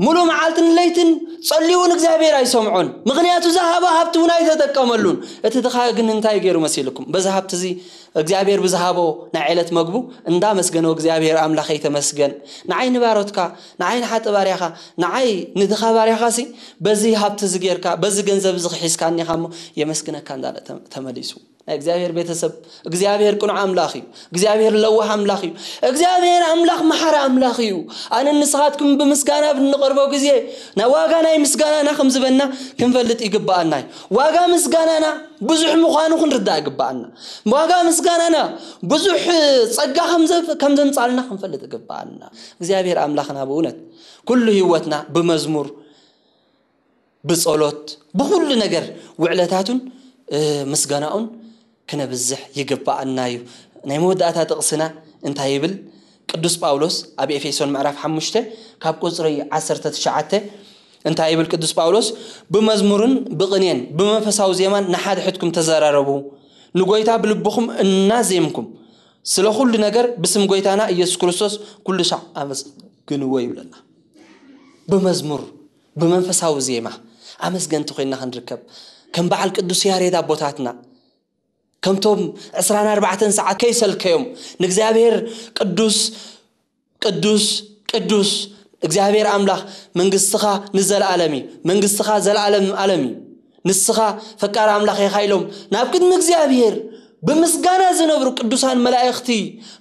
ሙሉ መዓልትን ለይትን ጸልዩ ንእግዚኣብሔር ኣይሰምዖን ምኽንያቱ ዝሃቦ ሃብቲ እውን ኣይተጠቀመሉን እቲ ድኻ ግን እንታይ ገይሩ መሲልኩም በዚ ሃብቲ እዚ እግዚኣብሔር ብዝሃቦ ናይ ዕለት መግቡ እንዳመስገነ እግዚኣብሔር ኣምላኸይ ተመስገን ንዓይ ንባሮትካ ንዓይ ንሓጢ ባርያኻ ንዓይ ንድኻ ባርያኻሲ በዚ ሃብቲ እዚ ጌርካ በዚ ገንዘብ እዚ ክሒዝካኒ ኢኻ እሞ የመስግነካ እንዳለ ተመሊሱ ናይ እግዚኣብሔር ቤተሰብ እግዚኣብሔር ቅኑዕ ኣምላኽ እዩ እግዚኣብሔር ለዋህ ኣምላኽ እዩ እግዚኣብሔር ኣምላኽ መሓሪ ኣምላኽ እዩ ኣነ ንስኻትኩም ብምስጋና ብንቐርቦ ግዜ ናይ ዋጋ ናይ ምስጋናና ከም ዝበና ክንፈልጥ ይግብኣና እዩ ዋጋ ምስጋናና ብዙሕ ምዃኑ ክንርዳእ ይግብኣና ዋጋ ምስጋናና ብዙሕ ጸጋ ከም ዘምጻልና ክንፈልጥ ይግብኣና እግዚኣብሔር ኣምላኽና ብእውነት ኩሉ ህይወትና ብመዝሙር ብጸሎት ብኹሉ ነገር ውዕለታቱን ምስጋናኡን ክነብዝሕ ይግብኣና እዩ። ናይ መወዳእታ ጥቕስና እንታይ ይብል? ቅዱስ ጳውሎስ ኣብ ኤፌሶን ምዕራፍ ሓሙሽተ ካብ ቁጽሪ ዓሰርተ ትሽዓተ እንታይ ይብል ቅዱስ ጳውሎስ? ብመዝሙርን ብቕኔን ብመንፈሳዊ ዜማን ንሓድሕድኩም ተዘራረቡ፣ ንጎይታ ብልብኹም እናዜምኩም ስለ ኩሉ ነገር ብስም ጎይታና ኢየሱስ ክርስቶስ ኩሉ ሻዕ ኣመስግንዎ ይብለና። ብመዝሙር ብመንፈሳዊ ዜማ ኣመስገንቲ ኮይንና ክንርከብ ከም በዓል ቅዱስ ያሬድ ኣቦታትና ከምቶም ዕስራን ኣርባዕተን ሰዓት ከይሰልከዮም ንእግዚኣብሔር ቅዱስ ቅዱስ ቅዱስ እግዚኣብሔር ኣምላኽ መንግስትኻ ንዘለኣለም እዩ መንግስትኻ ዘለኣለም ኣለም እዩ ንስኻ ፈቃር ኣምላኽ ኢኻ ኢሎም ናብ ቅድሚ እግዚኣብሔር ብምስጋና ዝነብሩ ቅዱሳን መላእኽቲ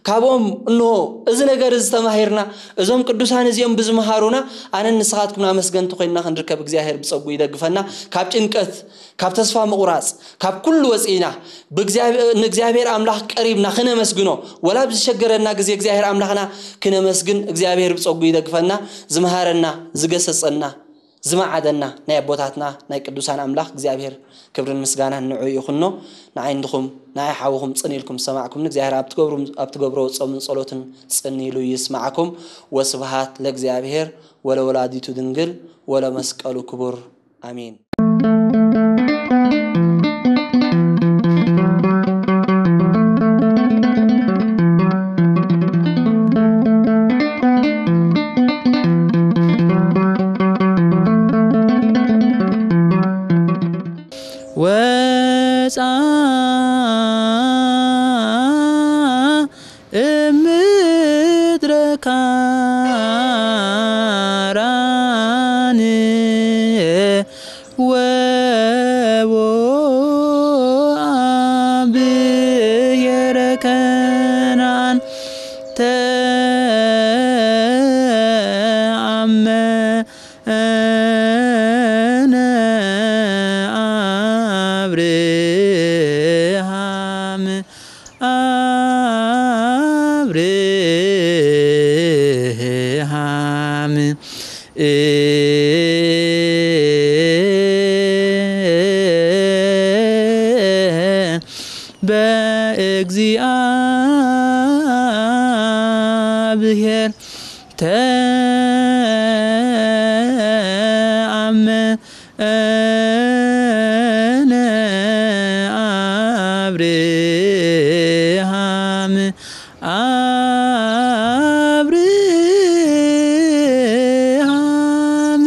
ካብኦም እንሆ እዚ ነገር እዚ ተማሂርና እዞም ቅዱሳን እዚኦም ብዝመሃሩና ኣነን ንስኻትኩም ኣመስገንቲ ኮይንና ክንርከብ እግዚኣብሔር ብጸጉ ይደግፈና ካብ ጭንቀት ካብ ተስፋ ምቑራጽ ካብ ኩሉ ወጺእና ንእግዚኣብሔር ኣምላኽ ቀሪብና ክነመስግኖ ወላ ብዝሸገረና ግዜ እግዚኣብሔር ኣምላኽና ክነመስግን እግዚኣብሔር ብጸጉ ይደግፈና ዝመሃረና ዝገሰጸና ዝመዓደና ናይ ኣቦታትና ናይ ቅዱሳን ኣምላኽ እግዚኣብሔር ክብርን ምስጋናን ንዑ ይኹኖ። ንዓይ እንድኹም ንዓይ ሓውኹም ጽን ኢልኩም ዝሰማዕኩምኒ እግዚኣብሔር ኣብ ትገብርዎ ጾምን ጸሎትን ጽን ኢሉ ይስማዕኩም። ወስብሃት ለእግዚኣብሔር ወለወላዲቱ ድንግል ወለመስቀሉ ክቡር ኣሜን። ወፃ እምድረ ካራን ወቦ ብሔረ ከነዓን ተአመ አብርሃም፣ አብርሃም፣ በእግዚአብሔር ተአመነ አብርሃም፣ አብርሃም፣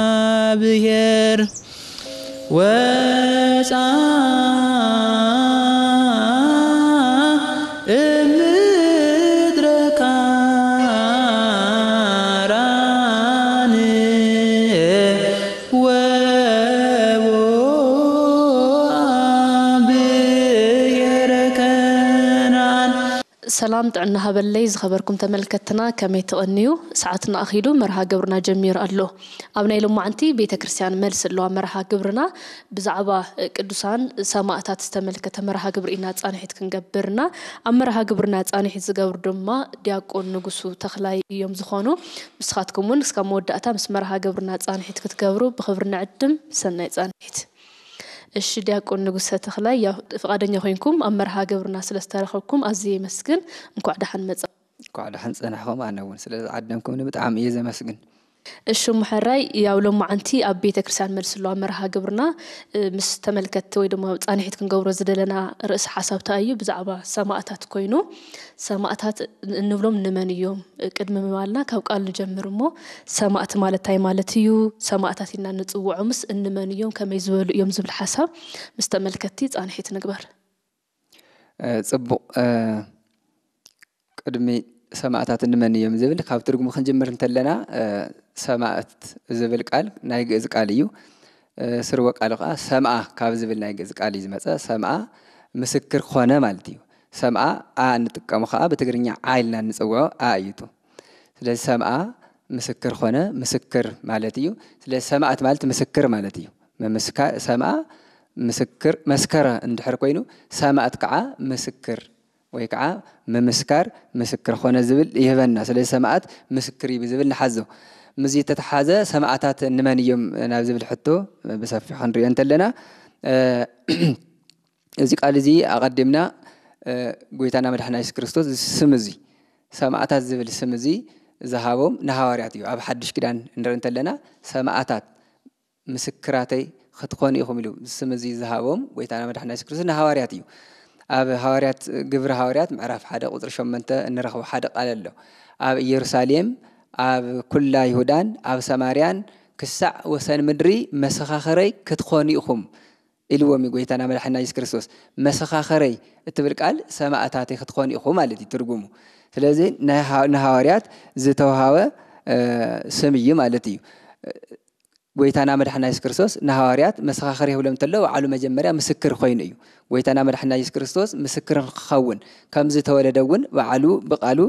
በእግዚአብሔር ወፃ እምድረ ካራን ወቦአ ብሔረ ከነዓን። ሰላም ጥዕና ሃበለይ ዝኸበርኩም ተመልከትና፣ ከመይ ትቐንዩ? ሰዓትና ኣኺሉ መርሃ ግብርና ጀሚሩ ኣሎ። ኣብ ናይ ሎማዓንቲ ቤተ ክርስቲያን መልሲ ኣለዋ መርሃ ግብርና። ብዛዕባ ቅዱሳን ሰማእታት ዝተመልከተ መርሃ ግብሪ ኢና ጻንሒት ክንገብርና። ኣብ መርሃ ግብርና ጻንሒት ዝገብሩ ድማ ዲያቆን ንጉሱ ተኽላይ እዮም ዝኾኑ። ንስኻትኩም እውን እስካብ መወዳእታ ምስ መርሃ ግብርና ጻንሒት ክትገብሩ ብኽብሪ ንዕድም። ሰናይ ጻንሒት። እሺ ዲያቆን ንጉሰ ተኽላይ፣ ያው ፍቓደኛ ኮይንኩም ኣብ መርሃ ግብርና ስለ ዝተረኸብኩም ኣዝየ የመስግን። እንኳዕ ደሓን መጻ። እንኳዕ ደሓን ጸናሕኹም። ኣነ እውን ስለ ዝዓደምኩምኒ ብጣዕሚ እየ ዘመስግን። እሺ እሞ ሕራይ፣ ያው ሎማዓንቲ ኣብ ቤተ ክርስቲያን መልሲ ኣለዋ መርሃ ግብርና፣ እ፣ ምስ ተመልከትቲ ወይ ድማ ጻንሒት ክንገብሮ ዝደለና ርእሲ ሓሳብ እንታይ እዩ? ብዛዕባ ሰማእታት ኮይኑ፣ ሰማእታት ን-፣ እንብሎም ንመን እዮም? ቅድሚ ምባልና ካብ ቃል ንጀምር እሞ፣ ሰማእት ማለት እንታይ ማለት እዩ? ሰማእታት ኢልና ንጽውዖምስ እንመን እዮም? ከመይ ዝበሉ እዮም? ዝብል ሓሳብ ምስ ተመልከትቲ ጻንሒት ንግበር። እ፣ ጽቡቕ። እ፣ ቅድሚ ሰማእታት እንመን እዮም ዝብል ካብ ትርጉሙ ክንጅምር እንተለና፣ እ፣ ሰማእት ዝብል ቃል ናይ ግእዝ ቃል እዩ። እ፣ ስርወ ቃሉ ከኣ ሰምኣ ካብ ዝብል ናይ ግእዝ ቃል እዩ ዝመጸ። ሰምኣ ምስክር ኮነ ማለት እዩ። ሰምኣ ኣ እንጥቀሞ ከኣ ብትግርኛ ዓ ኢልና እንጽውዖ ኣ እዩ እቱ። ስለዚ ሰምኣ ምስክር ኮነ፣ ምስክር ማለት እዩ። ስለዚ ሰማእት ማለት ምስክር ማለት እዩ። ምምስካ-፣ ሰምኣ ምስክር፣ መስከረ እንድሕር ኮይኑ፣ ሰማእት ከዓ ምስክር ወይ ከዓ ምምስካር፣ ምስክር ኮነ ዝብል ይህበና። ስለዚ ሰማእት ምስክር እዩ ብዝብል ንሓዞ። ምስዚ እተተሓዘ ሰማእታት እንመን እዮም ናብ ዝብል ሕቶ ብሰፊሑ ክንሪኦ እንተለና፣ እ፣ እዚ ቃል እዚ ኣቐዲምና፣ እ፣ ጎይታና መድሓና የሱስ ክርስቶስ እዚ ስም እዚ፣ ሰማእታት ዝብል ስም እዚ ዝሃቦም ንሃዋርያት እዩ። ኣብ ሓድሽ ኪዳን እንርኢ እንተለና፣ ሰማእታት ምስክራተይ ክትኾኑ ኢኹም ኢሉ ስም እዚ ዝሃቦም ጎይታና መድሓና የሱስ ክርስቶስ ንሃዋርያት እዩ። ኣብ ሃዋርያት፣ ግብሪ ሃዋርያት ምዕራፍ ሓደ ቁጽሪ ሸሞንተ እንረኽቦ ሓደ ቃል ኣሎ። ኣብ ኢየሩሳሌም፣ ኣብ ኩላ ይሁዳን ኣብ ሰማርያን ክሳዕ ወሰን ምድሪ መሰኻኽረይ ክትኾኑ ኢኹም ኢልዎም እዩ ጎይታና መድሓና የሱስ ክርስቶስ። መሰኻኽረይ እትብል ቃል ሰማእታተይ ክትኾኑ ኢኹም ማለት እዩ ትርጉሙ። ስለዚ ናይ ሃ-፣ ንሃዋርያት ዝተውሃበ፣ እ፣ ስም እዩ ማለት እዩ። ጎይታና መድሓና የሱስ ክርስቶስ ንሃዋርያት መሰኻኽር ይብሎም እንተሎ፣ ባዕሉ መጀመርያ ምስክር ኮይኑ እዩ። ጎይታና መድሓና የሱስ ክርስቶስ ምስክር ክኸውን ከም ዝተወለደ እውን ባዕሉ ብቃሉ፣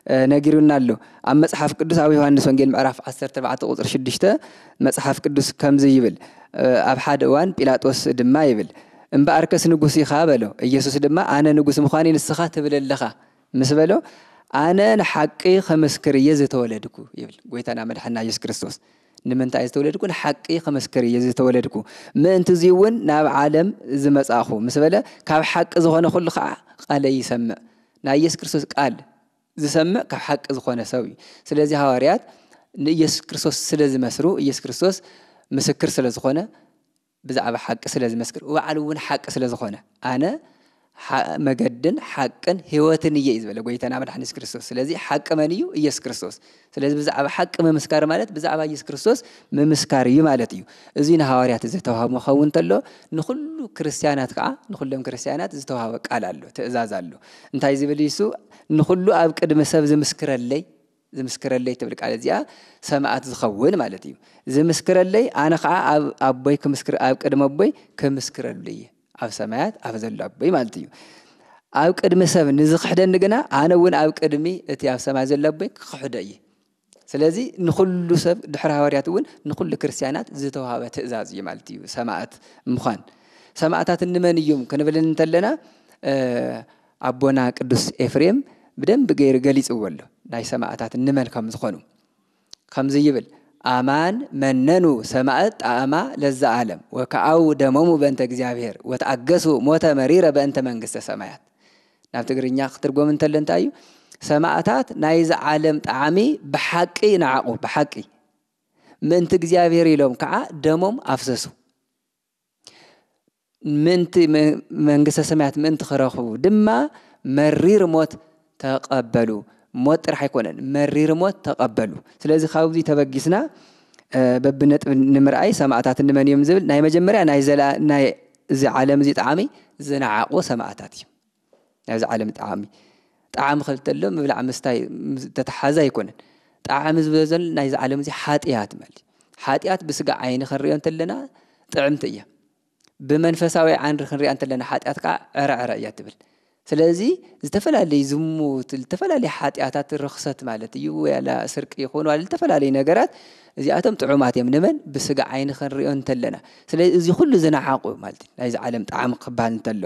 እ፣ ነጊሩና ኣሎ። ኣብ መጽሓፍ ቅዱስ ኣብ ዮሃንስ ወንጌል ምዕራፍ ዓሰርተ ኣርባዕተ ቁጽሪ ሽዱሽተ መጽሓፍ ቅዱስ ከምዚ ይብል፣ እ፣ ኣብ ሓደ እዋን ጲላጦስ ድማ ይብል፣ "እምበኣርከስ ንጉስ ኢኻ?" በሎ። ኢየሱስ ድማ፣ "ኣነ ንጉስ ምዃነይ ንስኻ ትብል ኣለኻ" ምስ በሎ፣ "ኣነ ንሓቂ ኸመስክር እየ ዝተወለድኩ" ይብል ጎይታና መድሓና የሱስ ክርስቶስ። ንምንታይ እየ ዝተወለድኩ? ንሓቂ ኸመስክር እየ ዝተወለድኩ። ምእንቲ እዚ እውን ናብ ዓለም ዝመጻእኹ ምስ በለ፣ ካብ ሓቂ ዝኾነ ኩሉ ኸዓ ቃለይ ይሰምዕ። ናይ የሱስ ክርስቶስ ቃል ዝሰምዕ ካብ ሓቂ ዝኾነ ሰብ እዩ። ስለዚ ሃዋርያት ንኢየሱስ ክርስቶስ ስለ ዝመስሩ፣ ኢየሱስ ክርስቶስ ምስክር ስለ ዝኾነ፣ ብዛዕባ ሓቂ ስለ ዝመስክር፣ ባዕሉ እውን ሓቂ ስለ ዝኾነ፣ "ኣነ ሓ-፣ መገድን ሓቅን ህይወትን እየ" እዩ ዝበለ ጎይታና መድሓኒ የሱስ ክርስቶስ። ስለዚ ሓቂ መን እዩ? ኢየሱስ ክርስቶስ። ስለዚ ብዛዕባ ሓቂ ምምስካር ማለት ብዛዕባ ኢየሱስ ክርስቶስ ምምስካር እዩ ማለት እዩ። እዚ ንሃዋርያት ዝተዋህቦ ክኸውን እንተሎ፣ ንኹሉ ክርስትያናት ከዓ፣ ንኹሎም ክርስትያናት ዝተዋህበ ቃል ኣሎ፣ ትእዛዝ ኣሎ። እንታይ ዝብል እዩ እሱ? "ንኹሉ ኣብ ቅድሚ ሰብ ዝምስክረለይ፣ ዝምስክረለይ" ትብል ቃል እዚኣ ሰማዕት ዝኸውን ማለት እዩ። "ዝምስክረለይ፣ ኣነ ከዓ ኣብ ኣቦይ ክምስክር፣ ኣብ ቅድሚ ኣቦይ ክምስክረሉ እየ፣ ኣብ ሰማያት ኣብ ዘሎ ኣቦይ" ማለት እዩ። ኣብ ቅድሚ ሰብ ንዝኽሕደኒ ግና ኣነ እውን ኣብ ቅድሚ እቲ ኣብ ሰማይ ዘሎ ኣቦይ ክኽሕዶ እየ። ስለዚ ንኹሉ ሰብ ድሕሪ ሃዋርያት እውን ንኹሉ ክርስትያናት ዝተዋሃበ ትእዛዝ እዩ ማለት እዩ ሰማእት ምዃን። ሰማእታት እንመን እዮም ክንብል እንተለና ኣቦና ቅዱስ ኤፍሬም ብደንብ ገይሩ ገሊፅዎ ኣሎ ናይ ሰማእታት እንመን ከም ዝኾኑ። ከምዚ ይብል ኣማን መነኑ ሰማእት ጣዕማ ለዛ ዓለም ወከኣው ደሞሙ በእንተ እግዚኣብሔር ወተኣገሱ ሞተ መሪረ በእንተ መንግስተ ሰማያት። ናብ ትግርኛ ክትርጎም እንተሎ እንታይ እዩ? ሰማእታት ናይዚ ዓለም ጣዕሚ ብሓቂ ነዓቑ፣ ብሓቂ ምእንቲ እግዚኣብሔር ኢሎም ከዓ ደሞም ኣፍሰሱ። ምእንቲ መንግስተ ሰማያት ምእንቲ ክረኽቡ ድማ መሪር ሞት ተቐበሉ። ሞት ጥራሕ ኣይኮነን፣ መሪር ሞት ተቐበሉ። ስለዚ ካብዚ ተበጊስና በብነጥቢ ንምርኣይ ሰማእታት እንመን እዮም ዝብል ናይ መጀመርያ ናይ እዚ ዓለም እዚ ጣዕሚ ዝነዓቑ ሰማእታት እዩ። ናይዚ ዓለም ጣዕሚ ጣዕሚ ክብል ተሎ ምብላዕ ምስታይ ተተሓዘ ኣይኮነን። ጣዕሚ ዝበዘል ናይዚ ዓለም እዚ ሓጢኣት ማለት ሓጢኣት ብስጋ ዓይኒ ክንሪኦ እንተለና ጥዕምቲ እያ። ብመንፈሳዊ ዓይኒ ክንሪኣ እንተለና ሓጢኣት ከዓ ዕረዕረ እያ ትብል። ስለዚ ዝተፈላለዩ ዝሙት፣ ዝተፈላለዩ ሓጢኣታት ርኽሰት ማለት እዩ። ያላ ስርቂ ይኹን ዋላ ዝተፈላለዩ ነገራት እዚኣቶም ጥዑማት እዮም። ንመን ብስጋ ዓይኒ ክንሪኦ እንተለና። ስለዚ እዚ ኩሉ ዝነዓቑ ማለት እዩ። ናይዚ ዓለም ጣዕሚ ክበሃል እንተሎ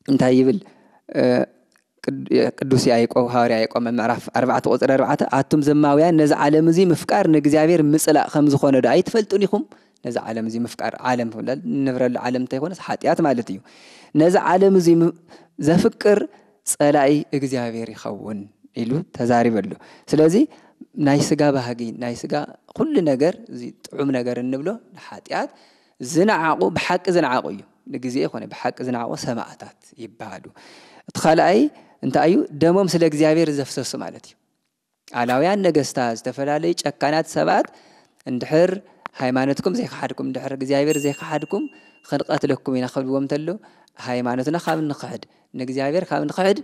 እንታይ ይብል? ቅዱስ ያዕቆብ፣ ሃዋርያ ያዕቆብ ምዕራፍ ኣርባዕተ ቁፅሪ ኣርባዕተ ኣቱም ዘማውያን ነዚ ዓለም እዚ ምፍቃር ንእግዚኣብሔር ምፅላእ ከም ዝኾነ ዶ ኣይትፈልጡን ኢኹም? ነዚ ዓለም እዚ ምፍቃር፣ ዓለም ንብረሉ ዓለም እንተይኮነስ ሓጢኣት ማለት እዩ። ነዚ ዓለም እዚ ዘፍቅር ፀላኢ እግዚኣብሔር ይኸውን ኢሉ ተዛሪበሉ። ስለዚ ናይ ስጋ ባህጊ ናይ ስጋ ኩሉ ነገር እዚ ጥዑም ነገር እንብሎ ንሓጢኣት ዝነዓቑ ብሓቂ ዝነዓቑ እዩ። ንግዜ ይኮነ ብሓቂ ዝነዓቑ ሰማእታት ይበሃሉ። እቲ ካልኣይ እንታይ እዩ? ደሞም ስለ እግዚኣብሔር ዘፍሰሱ ማለት እዩ። ኣላውያን ነገስታት፣ ዝተፈላለዩ ጨካናት ሰባት እንድሕር ሃይማኖትኩም ዘይከሓድኩም፣ እንድሕር እግዚኣብሔር ዘይከሓድኩም ክንቐትለኩም ኢና ክብልዎም እንተሎ ሃይማኖትና ካብ ንኽሕድ ንእግዚኣብሔር ካብ ንኽሕድ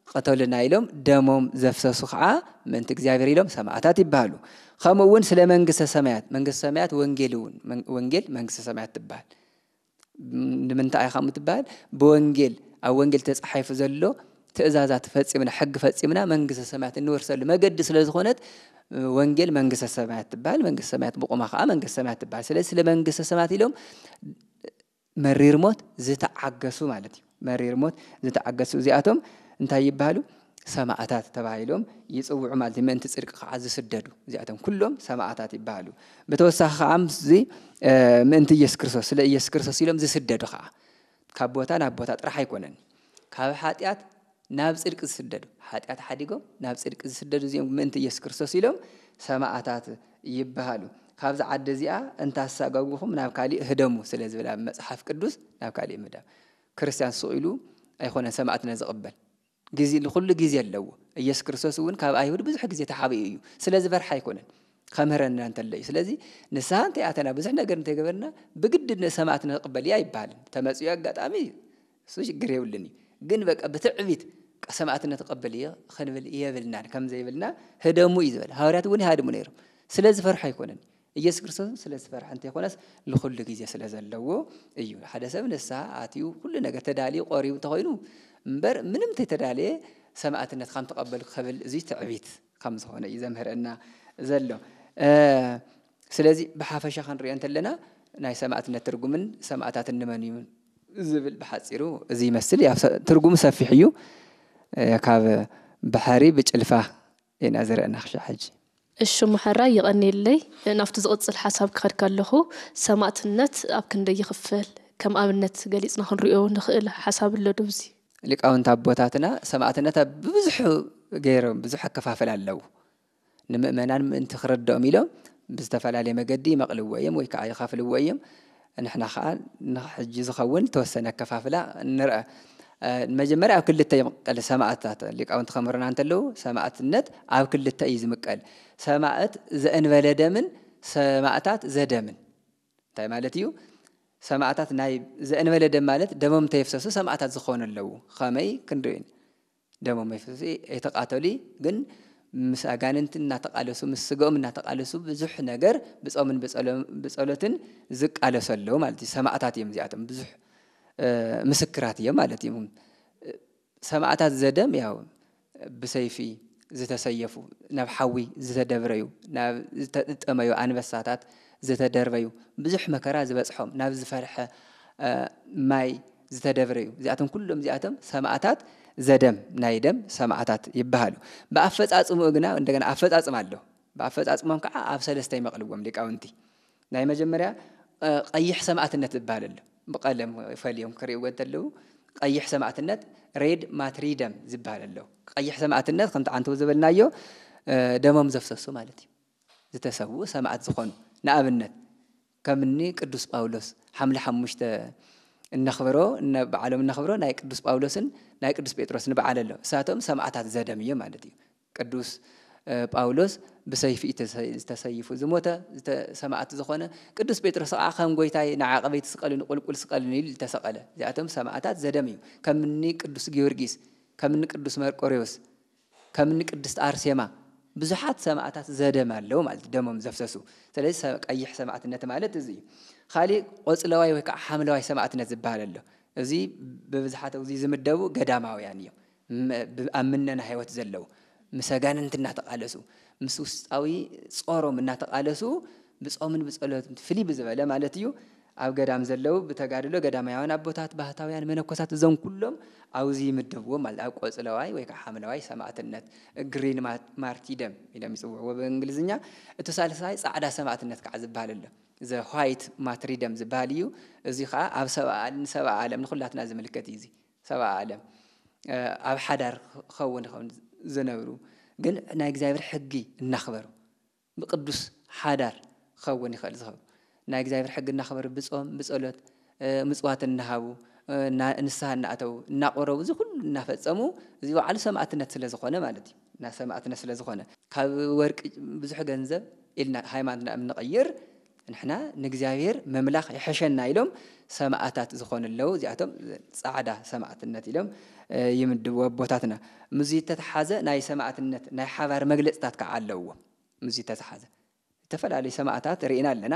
ቅተሉና ኢሎም ደሞም ዘፍሰሱ ከዓ ምእንቲ እግዚኣብሔር ኢሎም ሰማእታት ይበሃሉ። ከምኡ እውን ስለ መንግስተ ሰማያት፣ መንግስተ ሰማያት ወንጌል እውን ወንጌል መንግስተ ሰማያት ትበሃል። ንምንታይ እያ ከምኡ ትበሃል? ብወንጌል ኣብ ወንጌል ተፃሒፉ ዘሎ ትእዛዛት ፈፂምና ሕጊ ፈፂምና መንግስተ ሰማያት እንወርሰሉ መገዲ ስለ ዝኾነት ወንጌል መንግስተ ሰማያት ትበሃል። መንግስተ ሰማያት ብቑማ ከዓ መንግስተ ሰማያት ትበሃል። ስለዚ ስለ መንግስተ ሰማያት ኢሎም መሪር ሞት ዝተዓገሱ ማለት እዩ። መሪር ሞት ዝተዓገሱ እዚኣቶም እንታይ ይበሃሉ? ሰማእታት ተባሂሎም ይፅውዑ ማለት እዩ። ምእንቲ ፅድቂ ከዓ ዝስደዱ እዚኣቶም ኩሎም ሰማእታት ይበሃሉ። ብተወሳኺ ከዓ ምስዚ ምእንቲ ኢየሱስ ክርስቶስ ስለ ኢየሱስ ክርስቶስ ኢሎም ዝስደዱ ከዓ ካብ ቦታ ናብ ቦታ ጥራሕ ኣይኮነን፣ ካብ ሓጢኣት ናብ ፅድቂ ዝስደዱ፣ ሓጢኣት ሓዲጎም ናብ ፅድቂ ዝስደዱ እዚኦም ምእንቲ ኢየሱስ ክርስቶስ ኢሎም ሰማእታት ይበሃሉ። ካብዚ ዓዲ እዚኣ እንታሳጋጉኹም ናብ ካሊእ ህደሙ ስለ ዝብል ኣብ መፅሓፍ ቅዱስ ናብ ካሊእ ምህዳም። ክርስትያን ስቕ ኢሉ ኣይኮነን ሰማእትነት ዝቕበል። ግዜ ንኹሉ ግዜ ኣለዎ። ኢየሱስ ክርስቶስ እውን ካብ ኣይሁድ ብዙሕ ግዜ ተሓቢኡ እዩ። ስለ ዝፈርሓ ኣይኮነን፣ ከምህረና እንተሎ እዩ። ስለዚ ንስሓ እንተይኣተና ብዙሕ ነገር እንተይገበርና ብግዲ ንሰማእትነት ክቕበል እያ ኣይበሃልን። ተመፅኡ ኣጋጣሚ እሱ ሽግር የብሉን እዩ። ግን በቃ ብትዕቢት ሰማእትነት ክቕበል እየ ክንብል የብልናን። ከም ዘይብልና ህደሙ እዩ ዝበል። ሃዋርያት እውን ይሃድሙ ነይሮም። ስለ ዝፈርሑ ኣይኮነን። ኢየሱስ ክርስቶስ ስለ ዝፈርሐ እንተይኮነስ ንኹሉ ግዜ ስለ ዘለዎ እዩ። ሓደ ሰብ ንስሓ ኣትዩ ኩሉ ነገር ተዳልዩ ቆሪቡ እንተኾይኑ እምበር ምንም እንተይተዳለየ ሰማእትነት ከም ተቐበል ክብል እዚ ትዕቢት ከም ዝኾነ እዩ ዘምህረና ዘሎ። ስለዚ ብሓፈሻ ክንሪኦ እንተለና ናይ ሰማእትነት ትርጉምን ሰማእታት እንመን እዩ ዝብል ብሓፂሩ እዚ ይመስል። ትርጉሙ ሰፊሕ እዩ። ካብ ባሕሪ ብጭልፋ ኢና ዝረእና ክሻ ሕጂ። እሺ፣ ሙሐራ ይቐንየለይ። ናብቲ ዝቕጽል ሓሳብ ክኸድ ከለኹ፣ ሰማእትነት ኣብ ክንደይ ይኽፈል? ከም ኣብነት ገሊጽና ክንሪኦ ንኽእል ሓሳብ ኣሎ ዶ ኣብዚ? ሊቃውንቲ ኣቦታትና ሰማእትነት ኣብ ብብዙሕ ገይሮም ብዙሕ ኣከፋፍል ኣለዉ። ንምእመናን ምእንቲ ክረድኦም ኢሎም ብዝተፈላለየ መገዲ ይመቕልዎ እዮም ወይ ከዓ ይኸፍልዎ እዮም። ንሕና ከዓ ንሕጂ ዝኸውን ዝተወሰነ ኣከፋፍላ ንርአ። መጀመርያ ኣብ ክልተ ይምቀል ሰማእታት ሊቃውንቲ ከምሩና እንተለዉ ሰማእትነት ኣብ ክልተ እዩ ዝምቀል። ሰማእት ዘእንበለ ደምን ሰማእታት ዘደምን። እንታይ ማለት እዩ? ሰማእታት ናይ ዘእንበለ ደም ማለት ደሞም እንተየፍሰሱ ሰማእታት ዝኾኑ ኣለዉ። ከመይ ክንርኢ ደሞም መፍሰሲ ኣይተቓተሉ ግን ምስ ኣጋንንቲ እናተቓለሱ ምስ ስጋኦም እናተቓለሱ ብዙሕ ነገር ብፆምን ብፀሎትን ዝቃለሱ ኣለዉ ማለት እዩ። ሰማእታት እዮም እዚኣቶም ብዙሕ ምስክራት እዮም ማለት እዩ። ሰማዕታት ዘደም ያው ብሰይፊ ዝተሰየፉ፣ ናብ ሓዊ ዝተደብረዩ፣ ናብ ዝተጠመዩ ኣንበሳታት ዝተደርበዩ፣ ብዙሕ መከራ ዝበፅሖም፣ ናብ ዝፈርሐ ማይ ዝተደብረዩ፣ እዚኣቶም ኩሎም እዚኣቶም ሰማዕታት ዘደም፣ ናይ ደም ሰማዕታት ይበሃሉ። ብኣፈፃፅምኡ ግና እንደገና ኣፈፃፅማ ኣሎ። ብኣፈፃፅሞም ከዓ ኣብ ሰለስተ ይመቕልዎም ሊቃውንቲ። ናይ መጀመርያ ቀይሕ ሰማዕትነት ዝበሃል ኣሎ። ብቐለም ፈልዮም ክርእይዎ እንተለዉ ቀይሕ ሰማዕትነት፣ ሬድ ማትሪደም ዝበሃል ኣሎ። ቀይሕ ሰማዕትነት ከምቲ ዓንተው ዝበልናዮ ደሞም ዘፍሰሱ ማለት እዩ። ዝተሰውኡ ሰማዕት ዝኾኑ፣ ንኣብነት ከምኒ ቅዱስ ጳውሎስ ሓምለ ሓሙሽተ እነኽብሮ፣ እነ-፣ በዓሎም እነኽብሮ ናይ ቅዱስ ጳውሎስን ናይ ቅዱስ ጴጥሮስን በዓል ኣሎ። እሳቶም ሰማዕታት ዘደም እዮም ማለት እዩ። ቅዱስ ጳውሎስ ብሰይፊ እዩ ዝተሰይፉ ዝሞተ፣ ሰማዕት ዝኾነ። ቅዱስ ጴጥሮስ ከዓ ከም ጎይታይ ንዓቐበይቲ ስቀሉኒ፣ ቁልቁል ስቀሉኒ ኢሉ ዝተሰቐለ። እዚኣቶም ሰማዕታት ዘደም እዩ። ከምኒ ቅዱስ ጊዮርጊስ፣ ከምኒ ቅዱስ መርቆሬዎስ፣ ከምኒ ቅድስት ኣርሴማ ብዙሓት ሰማዕታት ዘደም ኣለዉ ማለት ደሞም ዘፍሰሱ። ስለዚ ቀይሕ ሰማዕትነት ማለት እዚ እዩ። ካሊእ ቆፅለዋይ ወይ ከዓ ሓምለዋይ ሰማዕትነት ዝበሃል ኣሎ። እዚ ብብዝሓት እዚ ዝምደቡ ገዳማውያን እዮም። ኣብ ምነና ህይወት ዘለዉ፣ ምስ ኣጋንንቲ እናተቓለሱ፣ ምስ ውስጣዊ ጾሮም እናተቓለሱ፣ ብጾምን ብጸሎትን ፍልይ ብዝበለ ማለት እዩ፣ ኣብ ገዳም ዘለዉ ብተጋድሎ ገዳማውያን ኣቦታት፣ ባህታውያን፣ መነኮሳት፣ እዞም ኩሎም ኣብዚ ይምደብዎም ማለት ኣብ ቆጽለዋይ ወይ ከዓ ሓምለዋይ ሰማዕትነት፣ ግሪን ማርቲደም ኢሎም ይጽውዕዎ ብእንግሊዝኛ። እቲ ሳልሳይ ጻዕዳ ሰማዕትነት ከዓ ዝበሃል ኣሎ። ዘ ዋይት ማትሪደም ዝበሃል እዩ። እዚ ከዓ ኣብ ሰብኣ፣ ንሰብኣ ዓለም ንኹላትና ዝምልከት እዩ። እዚ ሰብኣ ዓለም ኣብ ሓዳር ክኸውን ይኸውን ዝነብሩ፣ ግን ናይ እግዚኣብሔር ሕጊ እናኽበሩ ብቅዱስ ሓዳር ክኸውን ይኽእል ዝኸብሩ፣ ናይ እግዚኣብሔር ሕጊ እናኽበሩ ብጾም ብጸሎት ምጽዋት እናሃቡ ንስሓ እናኣተዉ እናቆረቡ እዚ ኩሉ እናፈጸሙ እዚ ባዕሉ ሰማዕትነት ስለ ዝኾነ ማለት እዩ። እና ሰማዕትነት ስለ ዝኾነ ካብ ወርቂ ብዙሕ ገንዘብ ኢልና ሃይማኖትና እንቐይር ንሕና ንእግዚኣብሔር ምምላኽ ይሕሸና ኢሎም ሰማዕታት ዝኾኑ ኣለዉ። እዚኣቶም ጻዕዳ ሰማዕትነት ኢሎም ይምድብዎ ኣቦታትና። ምስዚ ዝተተሓዘ ናይ ሰማዕትነት ናይ ሓባር መግለጽታት ከዓ ኣለውዎ። ምስዚ ዝተተሓዘ ዝተፈላለዩ ሰማዕታት ርኢና ኣለና።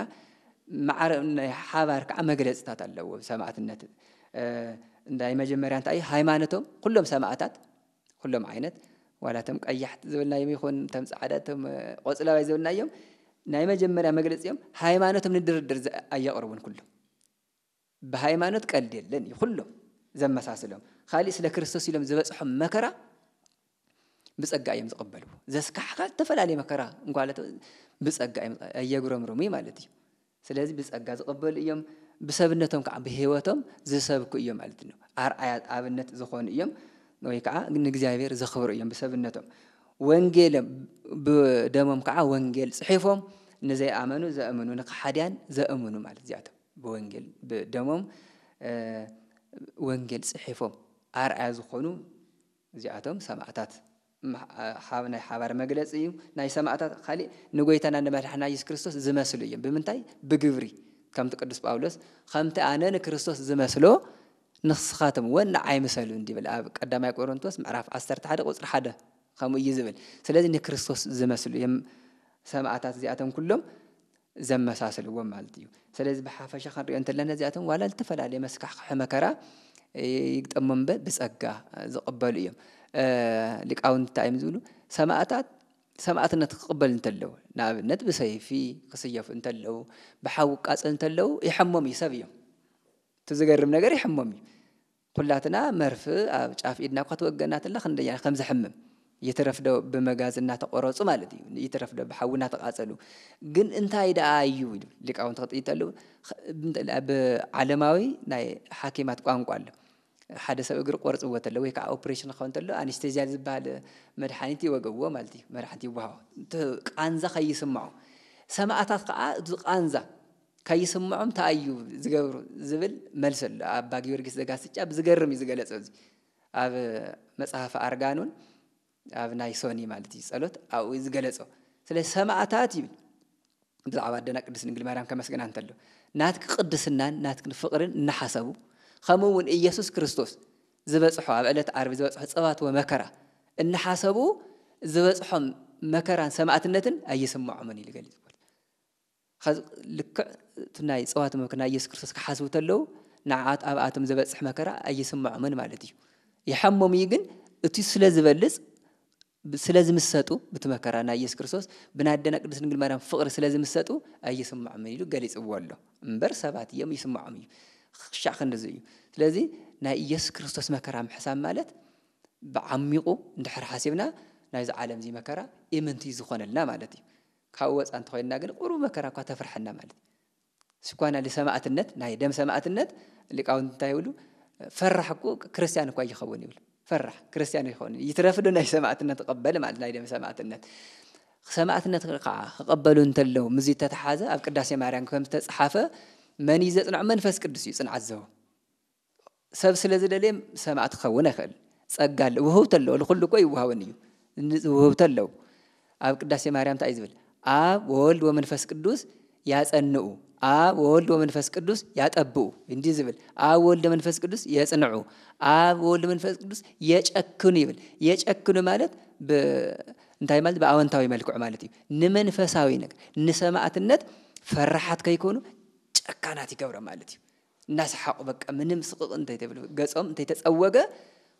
ማዕረ ናይ ሓባር ከዓ መግለጽታት ኣለዎ ሰማዕትነት። ናይ መጀመርያ እንታይ ሃይማኖቶም ኩሎም ሰማዕታት ኩሎም ዓይነት ዋላ እቶም ቀያሕቲ ዝብልናዮም ይኹን እቶም ጻዕዳ እቶም ቆጽለዋይ ዝብልናዮም ናይ መጀመርያ መግለጺኦም ሃይማኖቶም ንድርድር ኣየቕርቡን። ኩሎም ብሃይማኖት ቀልድ የለን እዩ። ኩሎም ዘመሳስሎም ካሊእ ስለ ክርስቶስ ኢሎም ዝበጽሖም መከራ ብጸጋ እዮም ዝቕበልዎ። ዘስካሕካ ዝተፈላለየ መከራ እንኳ ብጸጋ እዮም ኣየጉረምርሙ ማለት እዩ። ስለዚ ብጸጋ ዝቕበሉ እዮም። ብሰብነቶም ከዓ ብህይወቶም ዝሰብኩ እዮም ማለት ነው። ኣርኣያ ኣብነት ዝኾኑ እዮም ወይ ከዓ ንእግዚኣብሔር ዘኽብሩ እዮም ብሰብነቶም። ወንጌሎም ብደሞም ከዓ ወንጌል ጽሒፎም ንዘይኣመኑ ዘእምኑ ንከሓድያን ዘእምኑ ማለት እዚኣቶም ብወንጌል ብደሞም ወንጌል ጽሒፎም ኣርኣያ ዝኾኑ እዚኣቶም ሰማዕታት ናይ ሓባር መግለፂ እዩ። ናይ ሰማዕታት ካሊእ ንጎይታና ንመድሓና የሱስ ክርስቶስ ዝመስሉ እዮም። ብምንታይ? ብግብሪ። ከምቲ ቅዱስ ጳውሎስ ከምቲ ኣነ ንክርስቶስ ዝመስሎ ንስኻትም እውን ንዓይ ምሰሉ እንዲብል ኣብ ቀዳማይ ቆሮንቶስ ምዕራፍ ዓሰርተ ሓደ ቁፅሪ ሓደ ከምኡ እዩ ዝብል። ስለዚ ንክርስቶስ ዝመስሉ እዮም ሰማዕታት እዚኣቶም ኩሎም ዘመሳስልዎም ማለት እዩ። ስለዚ ብሓፈሻ ክንሪኦ እንተለና እዚኣቶም ዋላ ዝተፈላለየ መስካሕክሒ መከራ ይግጠሞም እምበር ብጸጋ ዝቕበሉ እዮም። ሊቃውንቲ እንታይ እዮም ዝብሉ? ሰማእታት ሰማእትነት ክቕበል እንተለዉ፣ ንኣብነት ብሰይፊ ክስየፉ እንተለዉ፣ ብሓዊ ክቃጸሉ እንተለዉ ይሐሞም እዩ፣ ሰብ እዮም። እቲ ዝገርም ነገር ይሐሞም እዩ። ኩላትና መርፍ ኣብ ጫፍ ኢድና እኳ ትወገና ተላ ክንደያ ከም ዘሕምም ይትረፍዶ ብመጋዝ እናተቆረጹ ማለት እዩ። ይትረፍዶ ብሓዊ እናተቃጸሉ። ግን እንታይ ደኣ እዩ ኢሉ ሊቃውንቲ ክጥይተሉ ብዓለማዊ ናይ ሓኪማት ቋንቋ ኣሎ። ሓደ ሰብ እግሪ ቆርጽዎ ተሎ ወይ ከዓ ኦፕሬሽን ክኸውን ተሎ ኣኒስቴዝያ ዝበሃል መድሓኒት ይወገዎ ማለት እዩ። መድሓኒት ይወሃቦ። እቲ ቃንዛ ከይስምዖ። ሰማእታት ከዓ እቲ ቃንዛ ከይስምዖም ተኣዩ ዝገብሩ ዝብል መልሲ ኣሎ። ኣባ ጊዮርጊስ ዘጋስጫ ብዝገርም እዩ ዝገለጾ። እዚ ኣብ መጽሓፍ ኣርጋኑን ኣብ ናይ ሶኒ ማለት እዩ ጸሎት ኣብኡ እዩ ዝገለጾ። ስለ ሰማእታት ይብል ብዛዕባ ኣደና ቅድስት ድንግል ማርያም ከመስግና እንተሎ ናትኪ ቅድስናን ናትኪ ፍቕርን እናሓሰቡ ከምኡ እውን ኢየሱስ ክርስቶስ ዝበጽሖ ኣብ ዕለት ዓርቢ ዝበጽሖ ጸዋትወ መከራ እናሓሰቡ ዝበጽሖም መከራን ሰማእትነትን ኣይስምዖምን ኢሉ ገሊጽ። ልክዕ እቲ ናይ ጸዋትወ መከራ ናይ ኢየሱስ ክርስቶስ ክሓስቡ ተለዉ ንዓት ኣብኣቶም ዝበጽሕ መከራ ኣይስምዖምን ማለት እዩ። ይሓሞም እዩ፣ ግን እቲ ስለ ዝበልጽ፣ ብ-፣ ስለ ዝምሰጡ ብቲ መከራ ናይ ኢየሱስ ክርስቶስ፣ ብናደና ቅድስት ድንግል ማርያም ፍቕሪ ስለ ዝምሰጡ ኣይስምዖምን ኢሉ ገሊጽዎ ኣሎ። እምበር ሰባት እዮም፣ ይስምዖም እዩ። ክሻዕ ክንድዚ እዩ። ስለዚ ናይ ኢየሱስ ክርስቶስ መከራ ምሕሳብ ማለት ብዓሚቑ እንድሕር ሓሲብና ናይዚ ዓለም እዚ መከራ ኢምንቲ ዝኾነልና ማለት እዩ። ካብኡ ወፃ እንተኾይንና ግን ቁሩብ መከራ እኳ ተፍርሐና ማለት እዩ። ስኳና ሰማእትነት፣ ናይ ደም ሰማእትነት ሊቃውንቲ እንታይ ይብሉ? ፈራሕ እኮ ክርስቲያን እኳ ይኸውን ይብሉ። ፈራሕ ክርስቲያን ይኸውን። ይትረፍ ዶ ናይ ሰማእትነት ቀበል ማለት ናይ ደም ሰማእትነት። ሰማእትነት ከዓ ክቐበሉ እንተለዉ፣ ምስዚ ተተሓዘ ኣብ ቅዳሴ ማርያም ከም ዝተፅሓፈ መን እዩ ዘፅንዖ? መንፈስ ቅዱስ እዩ ፅንዓት ዝህቦ። ሰብ ስለ ዝደልየ ሰማእት ክኸውን ኣይኽእል። ጸጋ ኣለ-፣ ውህብቶ ኣለዎ። ንኹሉ እኮ ይወሃበን እዩ። ን-፣ ውህብቶ ኣለዉ። ኣብ ቅዳሴ ማርያም እንታይ እዩ ዝብል? "ኣብ ወወልድ ወመንፈስ ቅዱስ ያጸንኡ፣ ኣብ ወወልድ ወመንፈስ ቅዱስ ያጠብኡ" እንዲ ዝብል፣ "ኣብ ወልድ መንፈስ ቅዱስ የጽንዑ፣ ኣብ ወልድ መንፈስ ቅዱስ የጨክኑ" ይብል። የጨክኑ ማለት ብ-፣ እንታይ ማለት? ብኣወንታዊ መልክዑ ማለት እዩ። ንመንፈሳዊ ነገር፣ ንሰማእትነት ፈራሓት ከይኮኑ ጨካናት ይገብሮም ማለት እዩ። እናሰሓቑ በቃ ምንም ስቕቕ እንተይተብሉ፣ ገጾም እንተይተጸወገ፣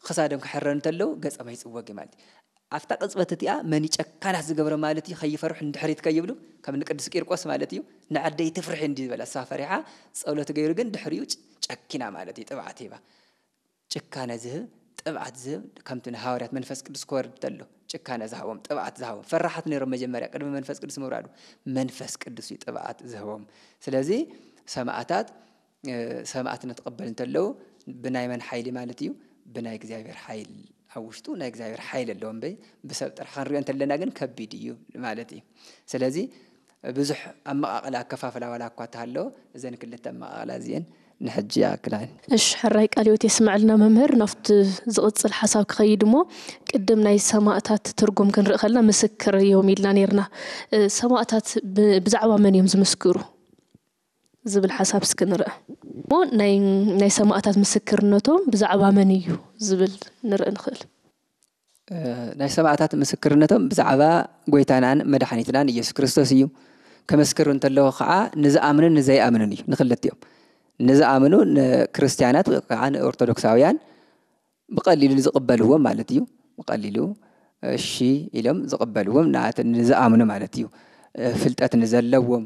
ክሳዶም ክሕረሩ እንተለዉ ገጾም ኣይጽወግ ማለት እዩ። ኣብታ ቅጽበት እቲኣ መን እዩ ጨካናት ዝገብሮም ማለት እዩ፣ ከይፈርሑ ንድሕሪት ከይብሉ፣ ከም ንቅዱስ ቂርቆስ ማለት እዩ፣ "ንዓደይ ትፍርሒ" እንዲ ዝበላ፣ እሳ ፈሪሓ ጸሎት ገይሩ ግን ድሕሪኡ ጨ-፣ ጨኪና ማለት እዩ፣ ጥብዓት ሂባ። ጭካነ ዝህብ፣ ጥብዓት ዝህብ፣ ከምቲ ንሃዋርያት መንፈስ ቅዱስ ክወርድ ተሎ ጭካነ ዝሃቦም፣ ጥብዓት ዝሃቦም፣ ፈራሓት ነይሮም መጀመርያ ቅድሚ መንፈስ ቅዱስ ምውራዱ፣ መንፈስ ቅዱስ እዩ ጥብዓት ዝህቦም። ስለዚ ሰማእታት፣ እ፣ ሰማእትነት ክቕበል እንተለዉ ብናይ መን ሓይሊ ማለት እዩ? ብናይ እግዚኣብሔር ሓይል። ኣብ ውሽጡ ናይ እግዚኣብሔር ሓይል ኣለዎ እምበይ ብሰብ ጥራሕ ክንሪኦ እንተለና ግን ከቢድ እዩ ማለት እዩ። ስለዚ ብዙሕ ኣመቓቕላ ኣከፋፍላ ዋላ እኳ እንተሃለወ፣ እዘን ክልተ ኣመቓቕላ እዚአን ንሕጂ ይኣክላ። እሺ፣ ሕራይ ቃለ ህይወት የስምዐልና መምህር። ናብቲ ዝቕጽል ሓሳብ ክኸይድ እሞ፣ ቅድም ናይ ሰማእታት ትርጉም ክንርኢ ከለና ምስክር እዮም ኢልና ነይርና። እ፣ ሰማእታት ብ-፣ ብዛዕባ መን እዮም ዝምስክሩ ዝብል ሓሳብ እስኪ ንርአ። እሞ ናይ፣ ናይ ሰማእታት ምስክርነቶም ብዛዕባ መን እዩ ዝብል ንርኢ ንኽእል። እ፣ ናይ ሰማእታት ምስክርነቶም ብዛዕባ ጐይታናን መድሓኒትናን ኢየሱስ ክርስቶስ እዩ። ክምስክሩ እንተለዉ ኸዓ ንዝኣምኑን ንዘይኣምኑን እዩ፣ ንኽልቲኦም። ንዝኣምኑ ንክርስትያናት ወይ ከዓ ንኦርቶዶክሳውያን ብቐሊሉ ዝቕበልዎም ማለት እዩ። ብቐሊሉ እሺ ኢሎም ዝቕበልዎም ንኣት-፣ ንዝኣምኑ ማለት እዩ። እ፣ ፍልጠት ንዘለዎም፣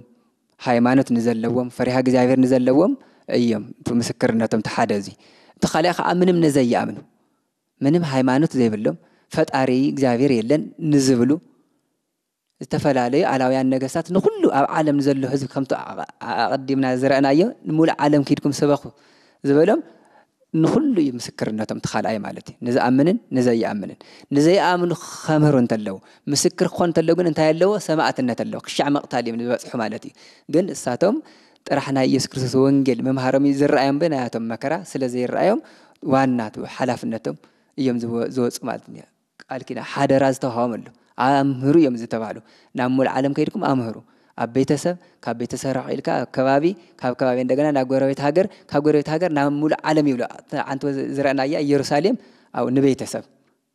ሃይማኖት ንዘለዎም፣ ፈሪሃ እግዚኣብሔር ንዘለዎም እዮም። እቲ ምስክርነቶም እቲ ሓደ እዚ። እቲ ካልእ ኸዓ ምንም ንዘይኣምኑ፣ ምንም ሃይማኖት ዘይብሎም፣ ፈጣሪ እግዚኣብሔር የለን ንዝብሉ፣ ዝተፈላለዩ ኣላውያን ነገስታት ንኹሉ ኣብ ዓለም ንዘሎ ህዝቢ ከምቲ ኣ-፣ ኣ-፣ ኣቐዲምና ዝረእናዮ፣ "ንሙሉእ ዓለም ኪድኩም ስበኹ" ዝበሎም ንኹሉ እዩ ምስክርነቶም፣ እቲ ካልኣይ ማለት እዩ። ንዝኣምንን ንዘይኣምንን። ንዘይኣምኑ ከምህሩ እንተለዉ፣ ምስክር ክኾን እንተለዉ ግን እንታይ ኣለዎ? ሰማእትነት ኣለዎ። ክሻዕ መቕታል እዮም ዝበጽሑ ማለት እዩ። ግን እሳቶም ጥራሕ ናይ ኢየሱስ ክርስቶስ ወንጌል ምምሃሮም እዩ ዝረኣዮም፣ ብናያቶም መከራ ስለ ዘይረኣዮም ዋና እቲ ሓላፍነቶም እዮም ዝወ-፣ ዝወጹ ማለት እዩ። ቃል ኪዳን ሓደራ ዝተዋህቦም ኣሎ። ኣምህሩ እዮም ዝተባህሉ። "ናብ ሙሉእ ዓለም ከይድኩም ኣምህሩ። ኣብ ቤተሰብ፣ ካብ ቤተሰብ ርሕቕ ኢልካ ኣብ ከባቢ፣ ካብ ከባቢ እንደገና ናብ ጎረቤት ሃገር፣ ካብ ጎረቤት ሃገር ናብ ሙሉእ ዓለም" ይብሉ። ኣንቲ ዝረእናያ ኢየሩሳሌም ኣብኡ ንቤተሰብ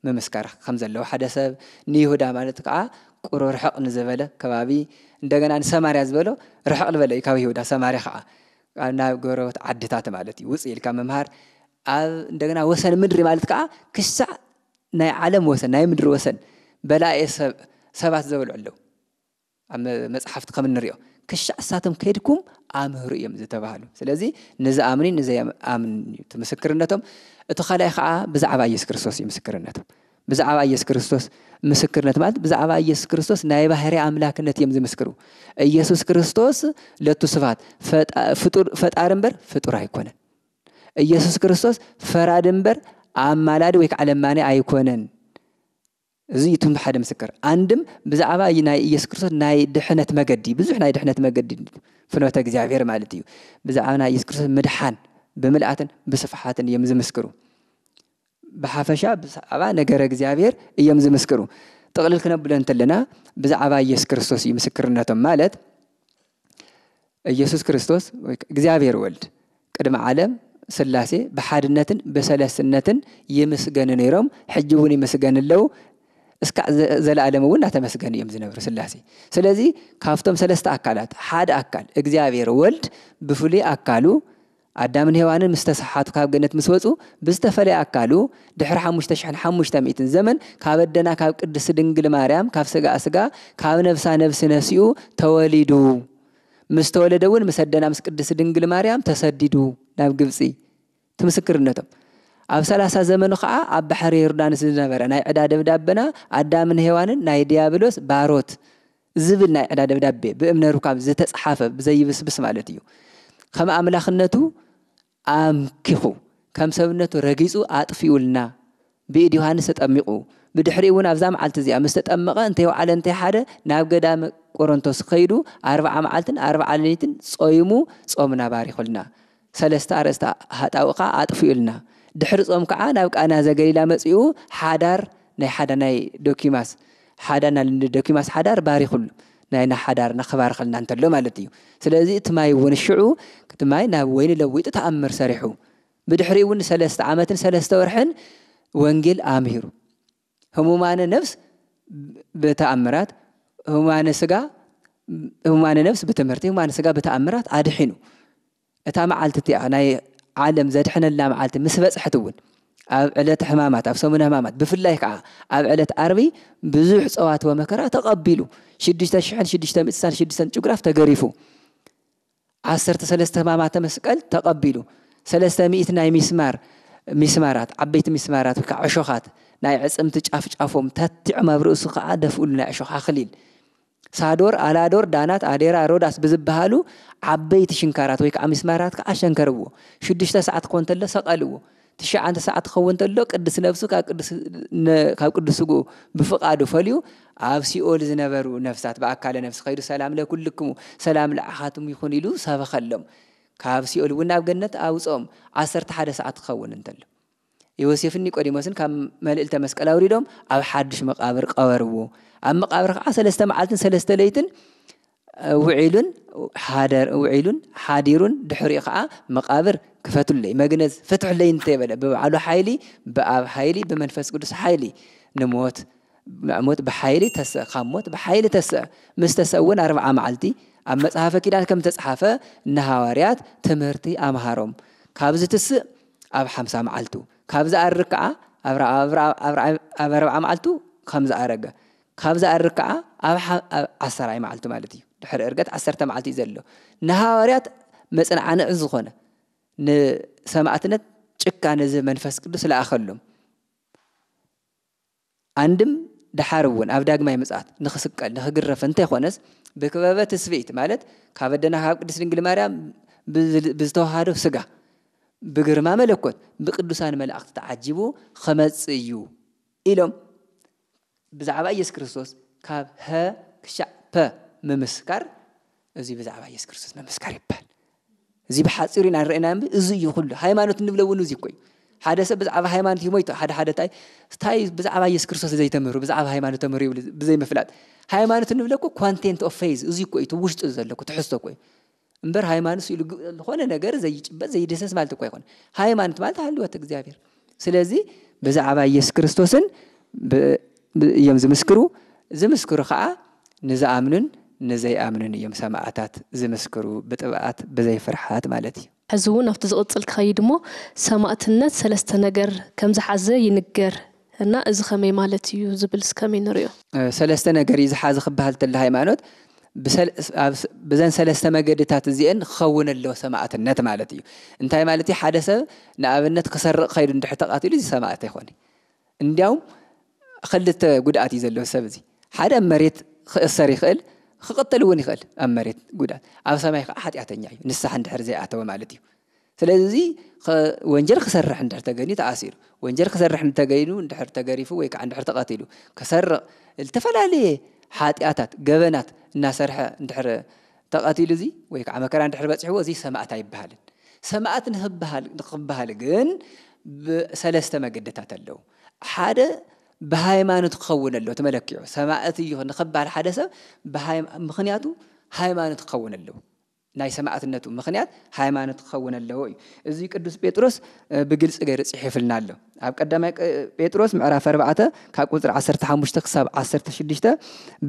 ምምስካር ከም ዘለዎ ሓደ ሰብ፣ ንይሁዳ ማለት ከዓ ቁሩብ ርሕቕ ንዝበለ ከባቢ፣ እንደገና ንሰማርያ ዝበሎ ርሕቕ ዝበለ እዩ ካብ ይሁዳ፣ ሰማርያ ከዓ ናብ ጎረቤት ዓድታት ማለት እዩ። ውፅእ ኢልካ ምምሃር፣ ኣብ እንደገና ወሰን ምድሪ ማለት ከዓ ክሳዕ ናይ ዓለም ወሰን፣ ናይ ምድሪ ወሰን በላኤ ሰብ፣ ሰባት ዘበልዑ ኣለዉ። ኣብ መ-፣ መጽሓፍቲ ከም እንሪኦ ክሻዕ እሳቶም ከይድኩም ኣምህሩ እዮም ዝተባህሉ። ስለዚ ንዝኣምኑን ንዘይኣምኑን እዩ እቲ ምስክርነቶም። እቲ ካልኣይ ከዓ ብዛዕባ ኢየሱስ ክርስቶስ እዩ ምስክርነቶም። ብዛዕባ ኢየሱስ ክርስቶስ ምስክርነት ማለት ብዛዕባ ኢየሱስ ክርስቶስ ናይ ባህሪ ኣምላክነት እዮም ዝምስክሩ። ኢየሱስ ክርስቶስ ለቱ ስብሐት ፈጣ-፣ ፍጡር፣ ፈጣሪ እምበር ፍጡር ኣይኮነን። ኢየሱስ ክርስቶስ ፈራዲ እምበር ኣማላዲ ወይ ከዓ ለማኒ ኣይኮነን። እዚ እዩ እቲ ሓደ ምስክር። ኣንድም ብዛዕባ ናይ ኢየሱስ ክርስቶስ ናይ ድሕነት መገዲ፣ ብዙሕ ናይ ድሕነት መገዲ፣ ፍኖተ እግዚኣብሔር ማለት እዩ። ብዛዕባ ናይ ኢየሱስ ክርስቶስ ምድሓን ብምልኣትን ብስፍሓትን እዮም ዝምስክሩ። ብሓፈሻ ብዛዕባ ነገረ እግዚኣብሔር እዮም ዝምስክሩ። ጥቕልል ክነብሎ እንተለና ብዛዕባ ኢየሱስ ክርስቶስ እዩ ምስክርነቶም። ማለት ኢየሱስ ክርስቶስ ወይ እግዚኣብሔር ወልድ ቅድሚ ዓለም ሥላሴ ብሓድነትን ብሰለስትነትን ይምስገኑ ነይሮም፣ ሕጂ እውን ይምስገኑ ኣለዉ። እስካዕ ዘ-፣ ዘለዓለም እውን እናተመስገኑ እዮም ዝነብሩ ሥላሴ። ስለዚ ካብቶም ሰለስተ ኣካላት ሓደ ኣካል እግዚኣብሔር ወልድ ብፍሉይ ኣካሉ ኣዳምን ሄዋንን ምስ ተሰሓቱ ካብ ገነት ምስ ወፁ ብዝተፈለየ ኣካሉ ድሕሪ ሓሙሽተ ሽሕን ሓሙሽተ ሚእትን ዘመን ካብ ኣደና ካብ ቅድስቲ ድንግል ማርያም ካብ ስጋኣ ስጋ ካብ ነፍሳ ነፍሲ ነሲኡ ተወሊዱ። ምስ ተወለደ እውን ምስ ኣደና ምስ ቅድስቲ ድንግል ማርያም ተሰዲዱ ናብ ግብፂ። እቲ ምስክርነቶም ኣብ ሰላሳ ዘመኑ ከዓ ኣብ ባሕሪ ዮርዳኖስ ዝነበረ ናይ ዕዳ ደብዳበና ኣዳምን ሄዋንን ናይ ዲያብሎስ ባሮት ዝብል ናይ ዕዳ ደብዳቤ ብእምነ ሩካብ ዝተፅሓፈ ብዘይብስብስ ማለት እዩ። ከም ኣምላኽነቱ ኣምኪኹ ከም ሰብነቱ ረጊፁ ኣጥፊኡልና ብኢድ ዮሃንስ ተጠሚቑ። ብድሕሪኡ እውን ኣብዛ መዓልቲ እዚኣ ምስ ተጠመቐ እንተይወዓለ እንተይሓደ ናብ ገዳመ ቆሮንቶስ ከይዱ ኣርብዓ መዓልትን ኣርብዓ ሌሊትን ጾይሙ ጾምና ባሪኹልና። ሰለስተ ኣርእስቲ ሃጣው ከዓ ኣጥፊኡልና። ድሕሪ ጾም ከዓ ናብ ቃና ዘገሊላ መጺኡ ሓዳር ናይ ሓዳ ናይ ዶኪማስ ሓዳ ናይ ዶኪማስ ሓዳር ባሪኹሉ ናይ ሓዳርና ክባርኸልና እንተሎ ማለት እዩ። ስለዚ እቲ ማይ እውን ሽዑ እቲ ማይ ናብ ወይኒ ለዊጡ ተኣምር ሰሪሑ። ብድሕሪኡ እውን ሰለስተ ዓመትን ሰለስተ ወርሕን ወንጌል ኣምሂሩ። ህሙማነ ነፍስ ብተኣምራት፣ ህሙማነ ስጋ ህሙማነ ነፍስ ብትምህርቲ፣ ህሙማነ ስጋ ብተኣምራት ኣድሒኑ። እታ መዓልቲ እቲኣ ናይ ዓለም ዘድሕነላ መዓልቲ ምስ በጽሐት እውን ኣብ ዕለተ ሕማማት፣ ኣብ ሰሙነ ሕማማት፣ ብፍላይ ከዓ ኣብ ዕለት ዓርቢ ብዙሕ ጸዋት ወመከራ ተቐቢሉ። ሽዱሽተ ሽሕን ሽዱሽተ ሚእትን ስሳን ሽዱሽተን ጭጉራፍ ተገሪፉ። ዓሰርተ ሰለስተ ሕማማተ መስቀል ተቐቢሉ። ሰለስተ ሚእቲ ናይ ሚስማር ሚስማራት፣ ዓበይቲ ሚስማራት ወይ ከዓ ዕሾኻት ናይ ዕጽምቲ ጫፍ ጫፎም ተቲዖም ኣብ ርእሱ ከዓ ደፍኡሉ ናይ ዕሾኽ ኣኽሊል። ሳዶር፣ ኣላዶር፣ ዳናት፣ ኣዴራ፣ ሮዳስ ብዝበሃሉ ዓበይቲ ሽንካራት ወይ ከዓ ሚስማራት ከዓ ሸንከርዎ። ሽዱሽተ ሰዓት ክኾን እንተሎ ሰቐልዎ። ትሽዓተ ሰዓት ክኸውን እንተሎ ቅድስ ነብሱ ካብ ቅዱስ ነ- ካብ ቅዱስ ስግኡ ብፍቓዱ ፈልዩ ኣብ ሲኦል ዝነበሩ ነፍሳት ብኣካለ ነፍሲ ከይዱ ሰላም ለኩልክሙ ሰላም ለዓኻትም ይኹን ኢሉ ሰበኸሎም። ካብ ሲኦል እውን ናብ ገነት ኣውፅኦም። ዓሰርተ ሓደ ሰዓት ክኸውን እንተሎ ዮሴፍን ኒቆዲሞስን ካብ መልእልተ መስቀል ኣውሪዶም ኣብ ሓድሽ መቃብር ቀበርዎ። ኣብ መቃብር ከዓ ሰለስተ መዓልትን ሰለስተ ለይትን ውዒሉን ሓደር ውዒሉን ሓዲሩን ድሕሪኡ ከዓ መቃብር ክፈቱለይ መግነዝ ፍትሕለይ እንተይበለ ብባዕሉ ሓይሊ ብኣብ ሓይሊ ብመንፈስ ቅዱስ ሓይሊ ንሞት ሞት ብሓይሊ ተስእ ካብ ሞት ብሓይሊ ተስእ ምስ ተስአ እውን ኣርብዓ መዓልቲ ኣብ መጽሓፈ ኪዳን ከም ተጽሓፈ ንሃዋርያት ትምህርቲ ኣምሃሮም። ካብ ዝትስእ ኣብ ሓምሳ መዓልቱ ካብ ዝኣርግ ከዓ ኣብ ኣርብዓ መዓልቱ ከም ዝኣረገ ካብ ዝኣርግ ከዓ ኣብ ዓሰራይ መዓልቱ ማለት እዩ። ድሕሪ እርገት ዓሰርተ መዓልቲ እዩ ዘሎ። ንሃዋርያት መጽንዓንዕ ዝኾነ ንሰማዕትነት ጭካነ እዚ መንፈስ ቅዱስ ለኣኸሎም። ኣንድም ደሓር እውን ኣብ ዳግማይ ምጽኣት ንኽስቀል ንኽግረፍ እንተይኮነስ ብክበበ ትስብእት ማለት ካብ ኣደና ካብ ቅድስት ድንግል ማርያም ብዝተዋሃዶ ስጋ ብግርማ መለኮት ብቅዱሳን መላእክቲ ተዓጂቡ ኸመጽእ እዩ ኢሎም ብዛዕባ ኢየሱስ ክርስቶስ ካብ ሀ ክሻዕ ፐ ምምስካር እዚ ብዛዕባ ኢየሱስ ክርስቶስ ምምስካር ይበሃል። እዚ ብሓፂሩ ኢና ንረእና እምቢ እዚ እዩ ኩሉ ሃይማኖት እንብለ እውን እዚ እኮ እዩ። ሓደ ሰብ ብዛዕባ ሃይማኖት እዩ ሞይቱ ሓደ ሓደ ታይ ታይ ብዛዕባ ኢየሱስ ክርስቶስ ዘይተምህሩ ብዛዕባ ሃይማኖት ተምህሩ ይብል ብዘይምፍላጥ ሃይማኖት እንብለ እኮ content of faith እዚ እኮ እዩ እቲ ውሽጡ ዘሎ እኮ ትሕዝቶ እኮ እዩ። እምበር ሃይማኖት ኢሉ ዝኾነ ነገር ዘይጭበጥ ዘይድህሰስ ማለት እኮ ኣይኮነ። ሃይማኖት ማለት ሃልወት እግዚኣብሔር። ስለዚ ብዛዕባ ኢየሱስ ክርስቶስን እዮም ዝምስክሩ። ዝምስክሩ ከዓ ንዝኣምኑን ንዘይኣምኑን እዮም ሰማዕታት ዝምስክሩ ብጥብኣት ብዘይ ፍርሓት ማለት እዩ። ሕዚ እውን ኣብቲ ዝቕፅል ክኸይድ እሞ ሰማእትነት ሰለስተ ነገር ከምዝሓዘ ይንገር እና እዚ ከመይ ማለት እዩ ዝብል እስከመይ ንሪኦ። ሰለስተ ነገር እዩ ዝሓዘ ክበሃል ተለ ሃይማኖት ብዘን ሰለስተ መገድታት እዚአን ክኸውን ኣለዎ ሰማእትነት ማለት እዩ። እንታይ ማለት እዩ? ሓደ ሰብ ንኣብነት ክሰርቕ ከይዱ እንድሕር ተቓቲሉ እዚ ሰማእት ኣይኮነ። እንዲያውም ክልተ ጉድኣት እዩ ዘለዎ ሰብ እዚ። ሓደ ኣብ መሬት ክእሰር ይኽእል፣ ክቕተል እውን ይኽእል ኣብ መሬት ጉድኣት። ኣብ ሰማይ ከዓ ሓጢኣተኛ እዩ፣ ንስሓ እንድሕር ዘይኣተወ ማለት እዩ። ስለዚ እዚ ወንጀል ክሰርሕ እንድሕር ተገይኑ ተኣሲሩ፣ ወንጀል ክሰርሕ እንተገይኑ እንድሕር ተገሪፉ ወይ ከዓ እንድሕር ተቐቲሉ፣ ክሰርቕ፣ ዝተፈላለየ ሓጢኣታት፣ ገበናት እናሰርሐ እንድሕር ተቐቲሉ እዚ ወይ ከዓ መከራ እንድሕር በፂሕዎ እዚ ሰማእት ኣይበሃልን። ሰማእት ንክበሃል ንክበሃል ግን ብሰለስተ መገድታት ኣለዉ። ሓደ ብሃይማኖት ክኸውን ኣለዎ እቲ መለክዒ ሰማእት እዩ ንክበሃል ሓደ ሰብ ምክንያቱ ሃይማኖት ክኸውን ኣለዎ። ናይ ሰማእትነቱ ምኽንያት ሃይማኖት ክኸውን ኣለዎ እዩ። እዚ ቅዱስ ጴጥሮስ ብግልፂ ገይሩ ፅሒፍልና ኣሎ። ኣብ ቀዳማይ ጴጥሮስ ምዕራፍ ኣርባዕተ ካብ ቁፅሪ ዓሰርተ ሓሙሽተ ክሳብ ዓሰርተ ሽዱሽተ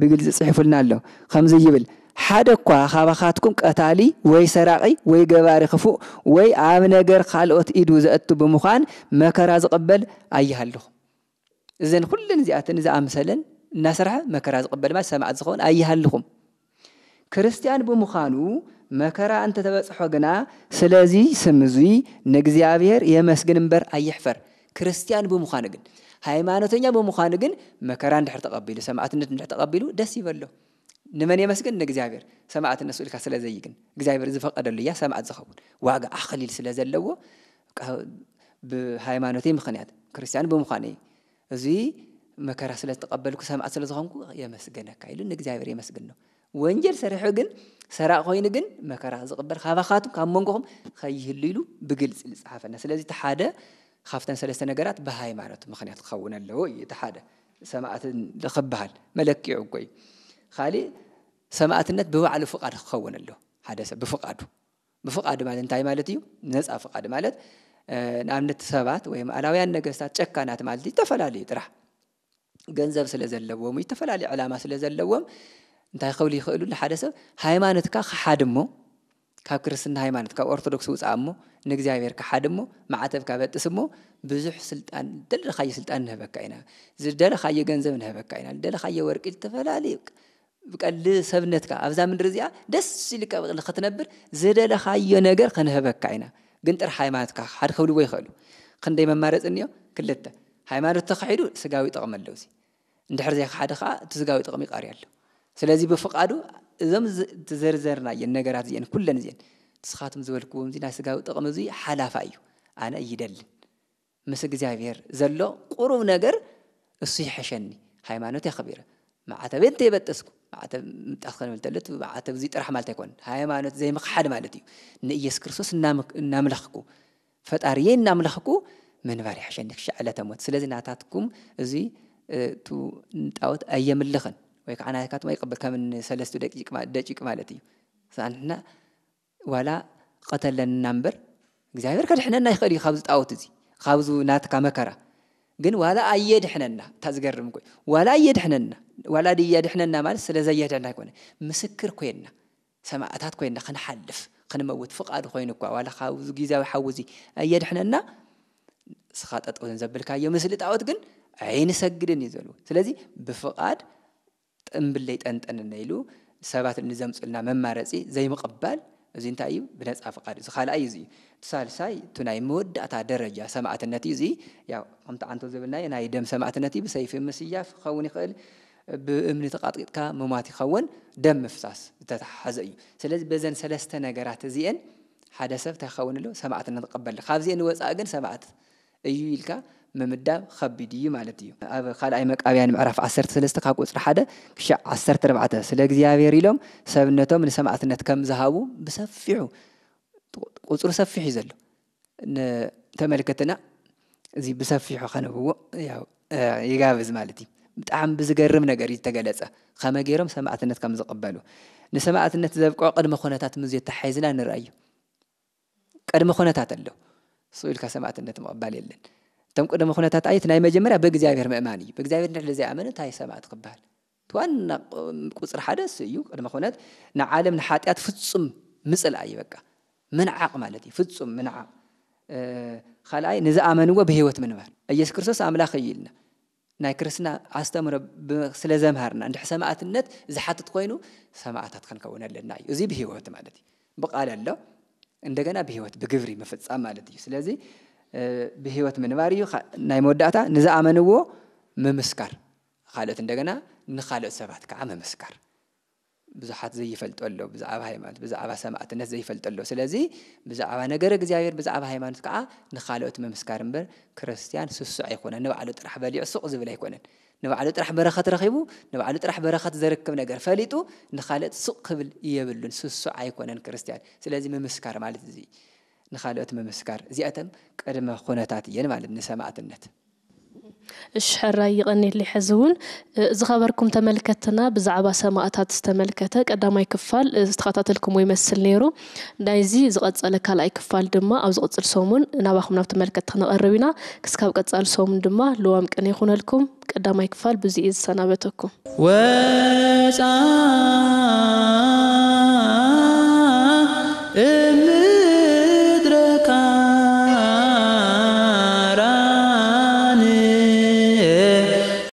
ብግልፂ ፅሒፉልና ኣሎ። ከምዚ ይብል፣ ሓደ እኳ ካባኻትኩም ቀታሊ ወይ ሰራቒ ወይ ገባሪ ክፉእ ወይ ኣብ ነገር ካልኦት ኢዱ ዘእቱ ብምዃን መከራ ዝቕበል ኣይሃልኹም። እዘን ኩለን እዚኣተን ዝኣምሰለን እናሰርሐ መከራ ዝቕበል ማለት ሰማዕት ዝኸውን ኣይሃልኹም። ክርስቲያን ብምዃኑ መከራ እንተተበጽሖ ግና ስለዚ ስም እዙይ ንእግዚኣብሔር የመስግን እምበር ኣይሕፈር። ክርስቲያን ብምዃኑ ግን፣ ሃይማኖተኛ ብምዃኑ ግን መከራ እንድሕር ተቐቢሉ፣ ሰማዕትነት እንድሕር ተቐቢሉ ደስ ይበሎ። ንመን የመስግን? ንእግዚኣብሔር። ሰማዕትነት ስኢልካ ስለ ዘይግን እግዚኣብሔር ዝፈቀደሉ እያ ሰማዕት ዝኸውን። ዋጋ ኣኽሊል ስለ ዘለዎ፣ ብሃይማኖተይ ምኽንያት ክርስቲያን ብምዃነይ እዚ መከራ ስለ ዝተቐበልኩ ሰማዕት ስለ ዝኾንኩ የመስገነካ ኢሉ ንእግዚኣብሔር የመስግኖ። ወንጀል ሰሪሑ ግን ሰራቕ ኮይኑ ግን መከራ ዝቕበል ካባኻትኩም ካብ መንጎኹም ከይህሉ ኢሉ ብግልፂ ዝፀሓፈና። ስለዚ እቲ ሓደ ካብተን ሰለስተ ነገራት ብሃይማኖት ምኽንያት ክኸውን ኣለዎ እዩ። እቲ ሓደ ሰማዕት ክበሃል መለክዒ እኮ እዩ። ካሊእ ሰማዕትነት ብባዕሉ ፍቓድ ክኸውን ኣለዎ። ሓደ ሰብ ብፍቓዱ ብፍቓድ ማለት እንታይ ማለት እዩ? ነፃ ፍቓድ ማለት ንኣብነት ሰባት ወይ ኣላውያን ነገስታት ጨካናት ማለት እዩ። ዝተፈላለዩ ጥራሕ ገንዘብ ስለ ዘለዎም ወይ ዝተፈላለዩ ዕላማ ስለ ዘለዎም እንታይ ክብሉ ይኽእሉ? ንሓደ ሰብ ሃይማኖትካ ክሓድ እሞ ካብ ክርስትና ሃይማኖት ካብ ኦርቶዶክስ ውፃእ እሞ ንእግዚኣብሔር ክሓድ እሞ ማዕተብካ በጥስ እሞ ብዙሕ ስልጣን ደለኻዮ ስልጣን ንህበካ ኢና፣ ዝደለኻዮ ገንዘብ ንህበካ ኢና፣ ዝደለኻዮ ወርቂ ዝተፈላለዩ ብቀልዲ ሰብነትካ ኣብዛ ምድሪ እዚኣ ደስ ኢልካ ብቕሊ ክትነብር ዝደለኻዮ ነገር ክንህበካ ኢና። ግን ጥራሕ ሃይማኖትካ ሓደ ክብልዎ ይኽእሉ። ክንደይ መማረፂ እኒኦ? ክልተ። ሃይማኖት ተኻሒዱ ስጋዊ ጥቕሚ ኣለውሲ። እንድሕር ዘይክሓደ ከዓ እቲ ስጋዊ ጥቕሚ ይቐሪ ኣሎ። ስለዚ ብፍቓዱ እዞም ዝዘርዘርናየን ነገራት እዚአን ኩለን እዚአን ንስኻትም ዝበልክዎም እዚ ናይ ስጋዊ ጥቕሚ እዚ ሓላፋ እዩ። ኣነ ይደልን ምስ እግዚኣብሔር ዘሎ ቁሩብ ነገር እሱ ይሐሸኒ። ሃይማኖት የኽቢረ ማዕተበ እንተይበጠስኩ ማዕተብ ምጣስ ከንብል ተሎ ማዕተብ እዚ ጥራሕ ማለት ኣይኮን ሃይማኖት ዘይምኽሓድ ማለት እዩ። ንኢየሱስ ክርስቶስ እናምለኽኩ ፈጣሪየ እናምለኽኩ ምንባር ይሐሸኒ ክሻዕ ዕለተ ሞት። ስለዚ ናታትኩም እዚ እቱ ንጣዖት ኣየምልኽን ወይ ከዓ ናትካትኩም ኣይቅብል ከም ሰለስቱ ደቂቅ ማለት እዩ። ንሕና ዋላ ቀተለና እምበር እግዚኣብሔር ከድሕነና ይኽእል እዩ ካብዚ ጣዖት እዚ ካብዚ ናትካ መከራ። ግን ዋላ ኣየድሕነና እታ ዝገርም እኮ ዋላ ኣየድሕነና ዋላ ድያድሕነና ማለት ስለ ዘየድሕና ኣይኮነ ምስክር ኮይንና ሰማእታት ኮይንና ክንሓልፍ ክንመውት ፍቓዱ ኮይኑ እኳ ዋላ ካብዚ ግዜያዊ ሓዊ እዚ ኣየድሕነና። ንስኻ ጠጠው ዘብልካዮ ምስሊ ጣዖት ግን ኣይንሰግድን እዩ ዘሉ። ስለዚ ብፍቓድ ጥምብል ለይጠንጠንና ኢሉ ሰባት ንዘምፁልና መማረፂ ዘይምቕባል እዚ እንታይ እዩ? ብነፃ ፍቓድ እዚ ካልኣይ እዚ እዩ። እቲ ሳልሳይ እቲ ናይ መወዳእታ ደረጃ ሰማዕትነት እዩ። እዚ ያው ከምቲ ዓንቶ ዝብልናዮ ናይ ደም ሰማዕትነት እዩ። ብሰይፊ ምስያፍ ክኸውን ይኽእል፣ ብእምኒ ተቓጥቂጥካ ምሟት ይኸውን፣ ደም ምፍሳስ ዝተተሓሓዘ እዩ። ስለዚ በዘን ሰለስተ ነገራት እዚአን ሓደ ሰብ እንታይ ክኸውን ኣለዎ? ሰማዕትነት ክቐበል። ካብዚአን ወፃኢ ግን ሰማዕት እዩ ኢልካ ምምዳብ ከቢድ እዩ ማለት እዩ። ኣብ ካልኣይ መቃብያን ምዕራፍ ዓሰርተ ሰለስተ ካብ ቁፅሪ ሓደ ክሻዕ ዓሰርተ ኣርባዕተ ስለ እግዚኣብሔር ኢሎም ሰብነቶም ንሰማዕትነት ከም ዝሃቡ ብሰፊሑ ቁፅሩ ሰፊሕ እዩ ዘሎ። ንተመልከትና እዚ ብሰፊሑ ከነብዎ ያው ይጋብዝ ማለት እዩ። ብጣዕሚ ብዝገርም ነገር እዩ ዝተገለጸ ከመ ገይሮም ሰማዕትነት ከም ዝቕበሉ ንሰማዕትነት ዘብቅዖ ቅድመ ኩነታት ምስ ዘተሓሒዝና ንርኣዩ። ቅድመ ኩነታት ኣሎ። ስቕ ኢልካ ሰማዕትነት ምቕባል የለን። እቶም ቅድመ ኩነታት ኣየት ናይ መጀመርያ ብእግዚኣብሔር ምእማን እዩ። ብእግዚኣብሔር እንድሕር ዘይኣመነ እንታይ ሰማዕት ክበሃል? እቲ ዋና ቁፅሪ ሓደ እሱ እዩ። ቅድመ ኩነት ንዓለም ንሓጢኣት ፍጹም ምፅላእ እዩ። በቃ ምንዓቕ ማለት እዩ። ፍጹም ምንዓቕ። ካልኣይ ንዝኣመንዎ ብህይወት ምንባር። ኢየሱስ ክርስቶስ ኣምላኽ እዩ ኢልና ናይ ክርስትና ኣስተምህሮ ስለ ዘምሃርና እንድሕር ሰማዕትነት ዝሓትት ኮይኑ ሰማዕታት ክንከውን ኣለና እዩ። እዚ ብህይወት ማለት እዩ። ብቃል ኣሎ እንደገና ብህይወት ብግብሪ ምፍጻም ማለት እዩ። ስለዚ ብህይወት ምንባር እዩ። ናይ መወዳእታ ንዝኣመንዎ ምምስካር፣ ካልኦት እንደገና ንካልኦት ሰባት ከዓ ምምስካር። ብዙሓት ዘይፈልጦ ኣሎ ብዛዕባ ሃይማኖት ብዛዕባ ሰማዕትነት ዘይፈልጦ ኣሎ። ስለዚ ብዛዕባ ነገር እግዚኣብሔር ብዛዕባ ሃይማኖት ከዓ ንካልኦት ምምስካር እምበር ክርስትያን ስሱዕ ኣይኮነን። ንባዕሉ ጥራሕ በሊዑ ሱቕ ዝብል ኣይኮነን። ንባዕሉ ጥራሕ በረኸት ረኺቡ ንባዕሉ ጥራሕ በረኸት ዘርክብ ነገር ፈሊጡ ንኻልኦት ሱቕ ክብል የብሉን። ስሱዕ ኣይኮነን ክርስትያን። ስለዚ ምምስካር ማለት እዚ ንኻልኦት ምምስካር እዚኣተን ቅድመ ኩነታት እየን ማለት ንሰማዕትነት። እሺ ሕራይ ይቐንየለይ። ሕዚ እውን ዝኸበርኩም ተመልከትና ብዛዕባ ሰማእታት ዝተመልከተ ቀዳማይ ክፋል ዝተኸታተልኩሞ ይመስል ነይሩ። ናይዚ ዝቐጸለ ካልኣይ ክፋል ድማ ኣብ ዝቕጽል ሰሙን ናባኹም ናብ ተመልከትቲ ክነቐርብ ኢና። ክስካብ ቀጻሊ ሰሙን ድማ ልዋም ቅነ ይኹነልኩም። ቀዳማይ ክፋል ብዙይ እየ ዝሰናበተኩም። ወፃ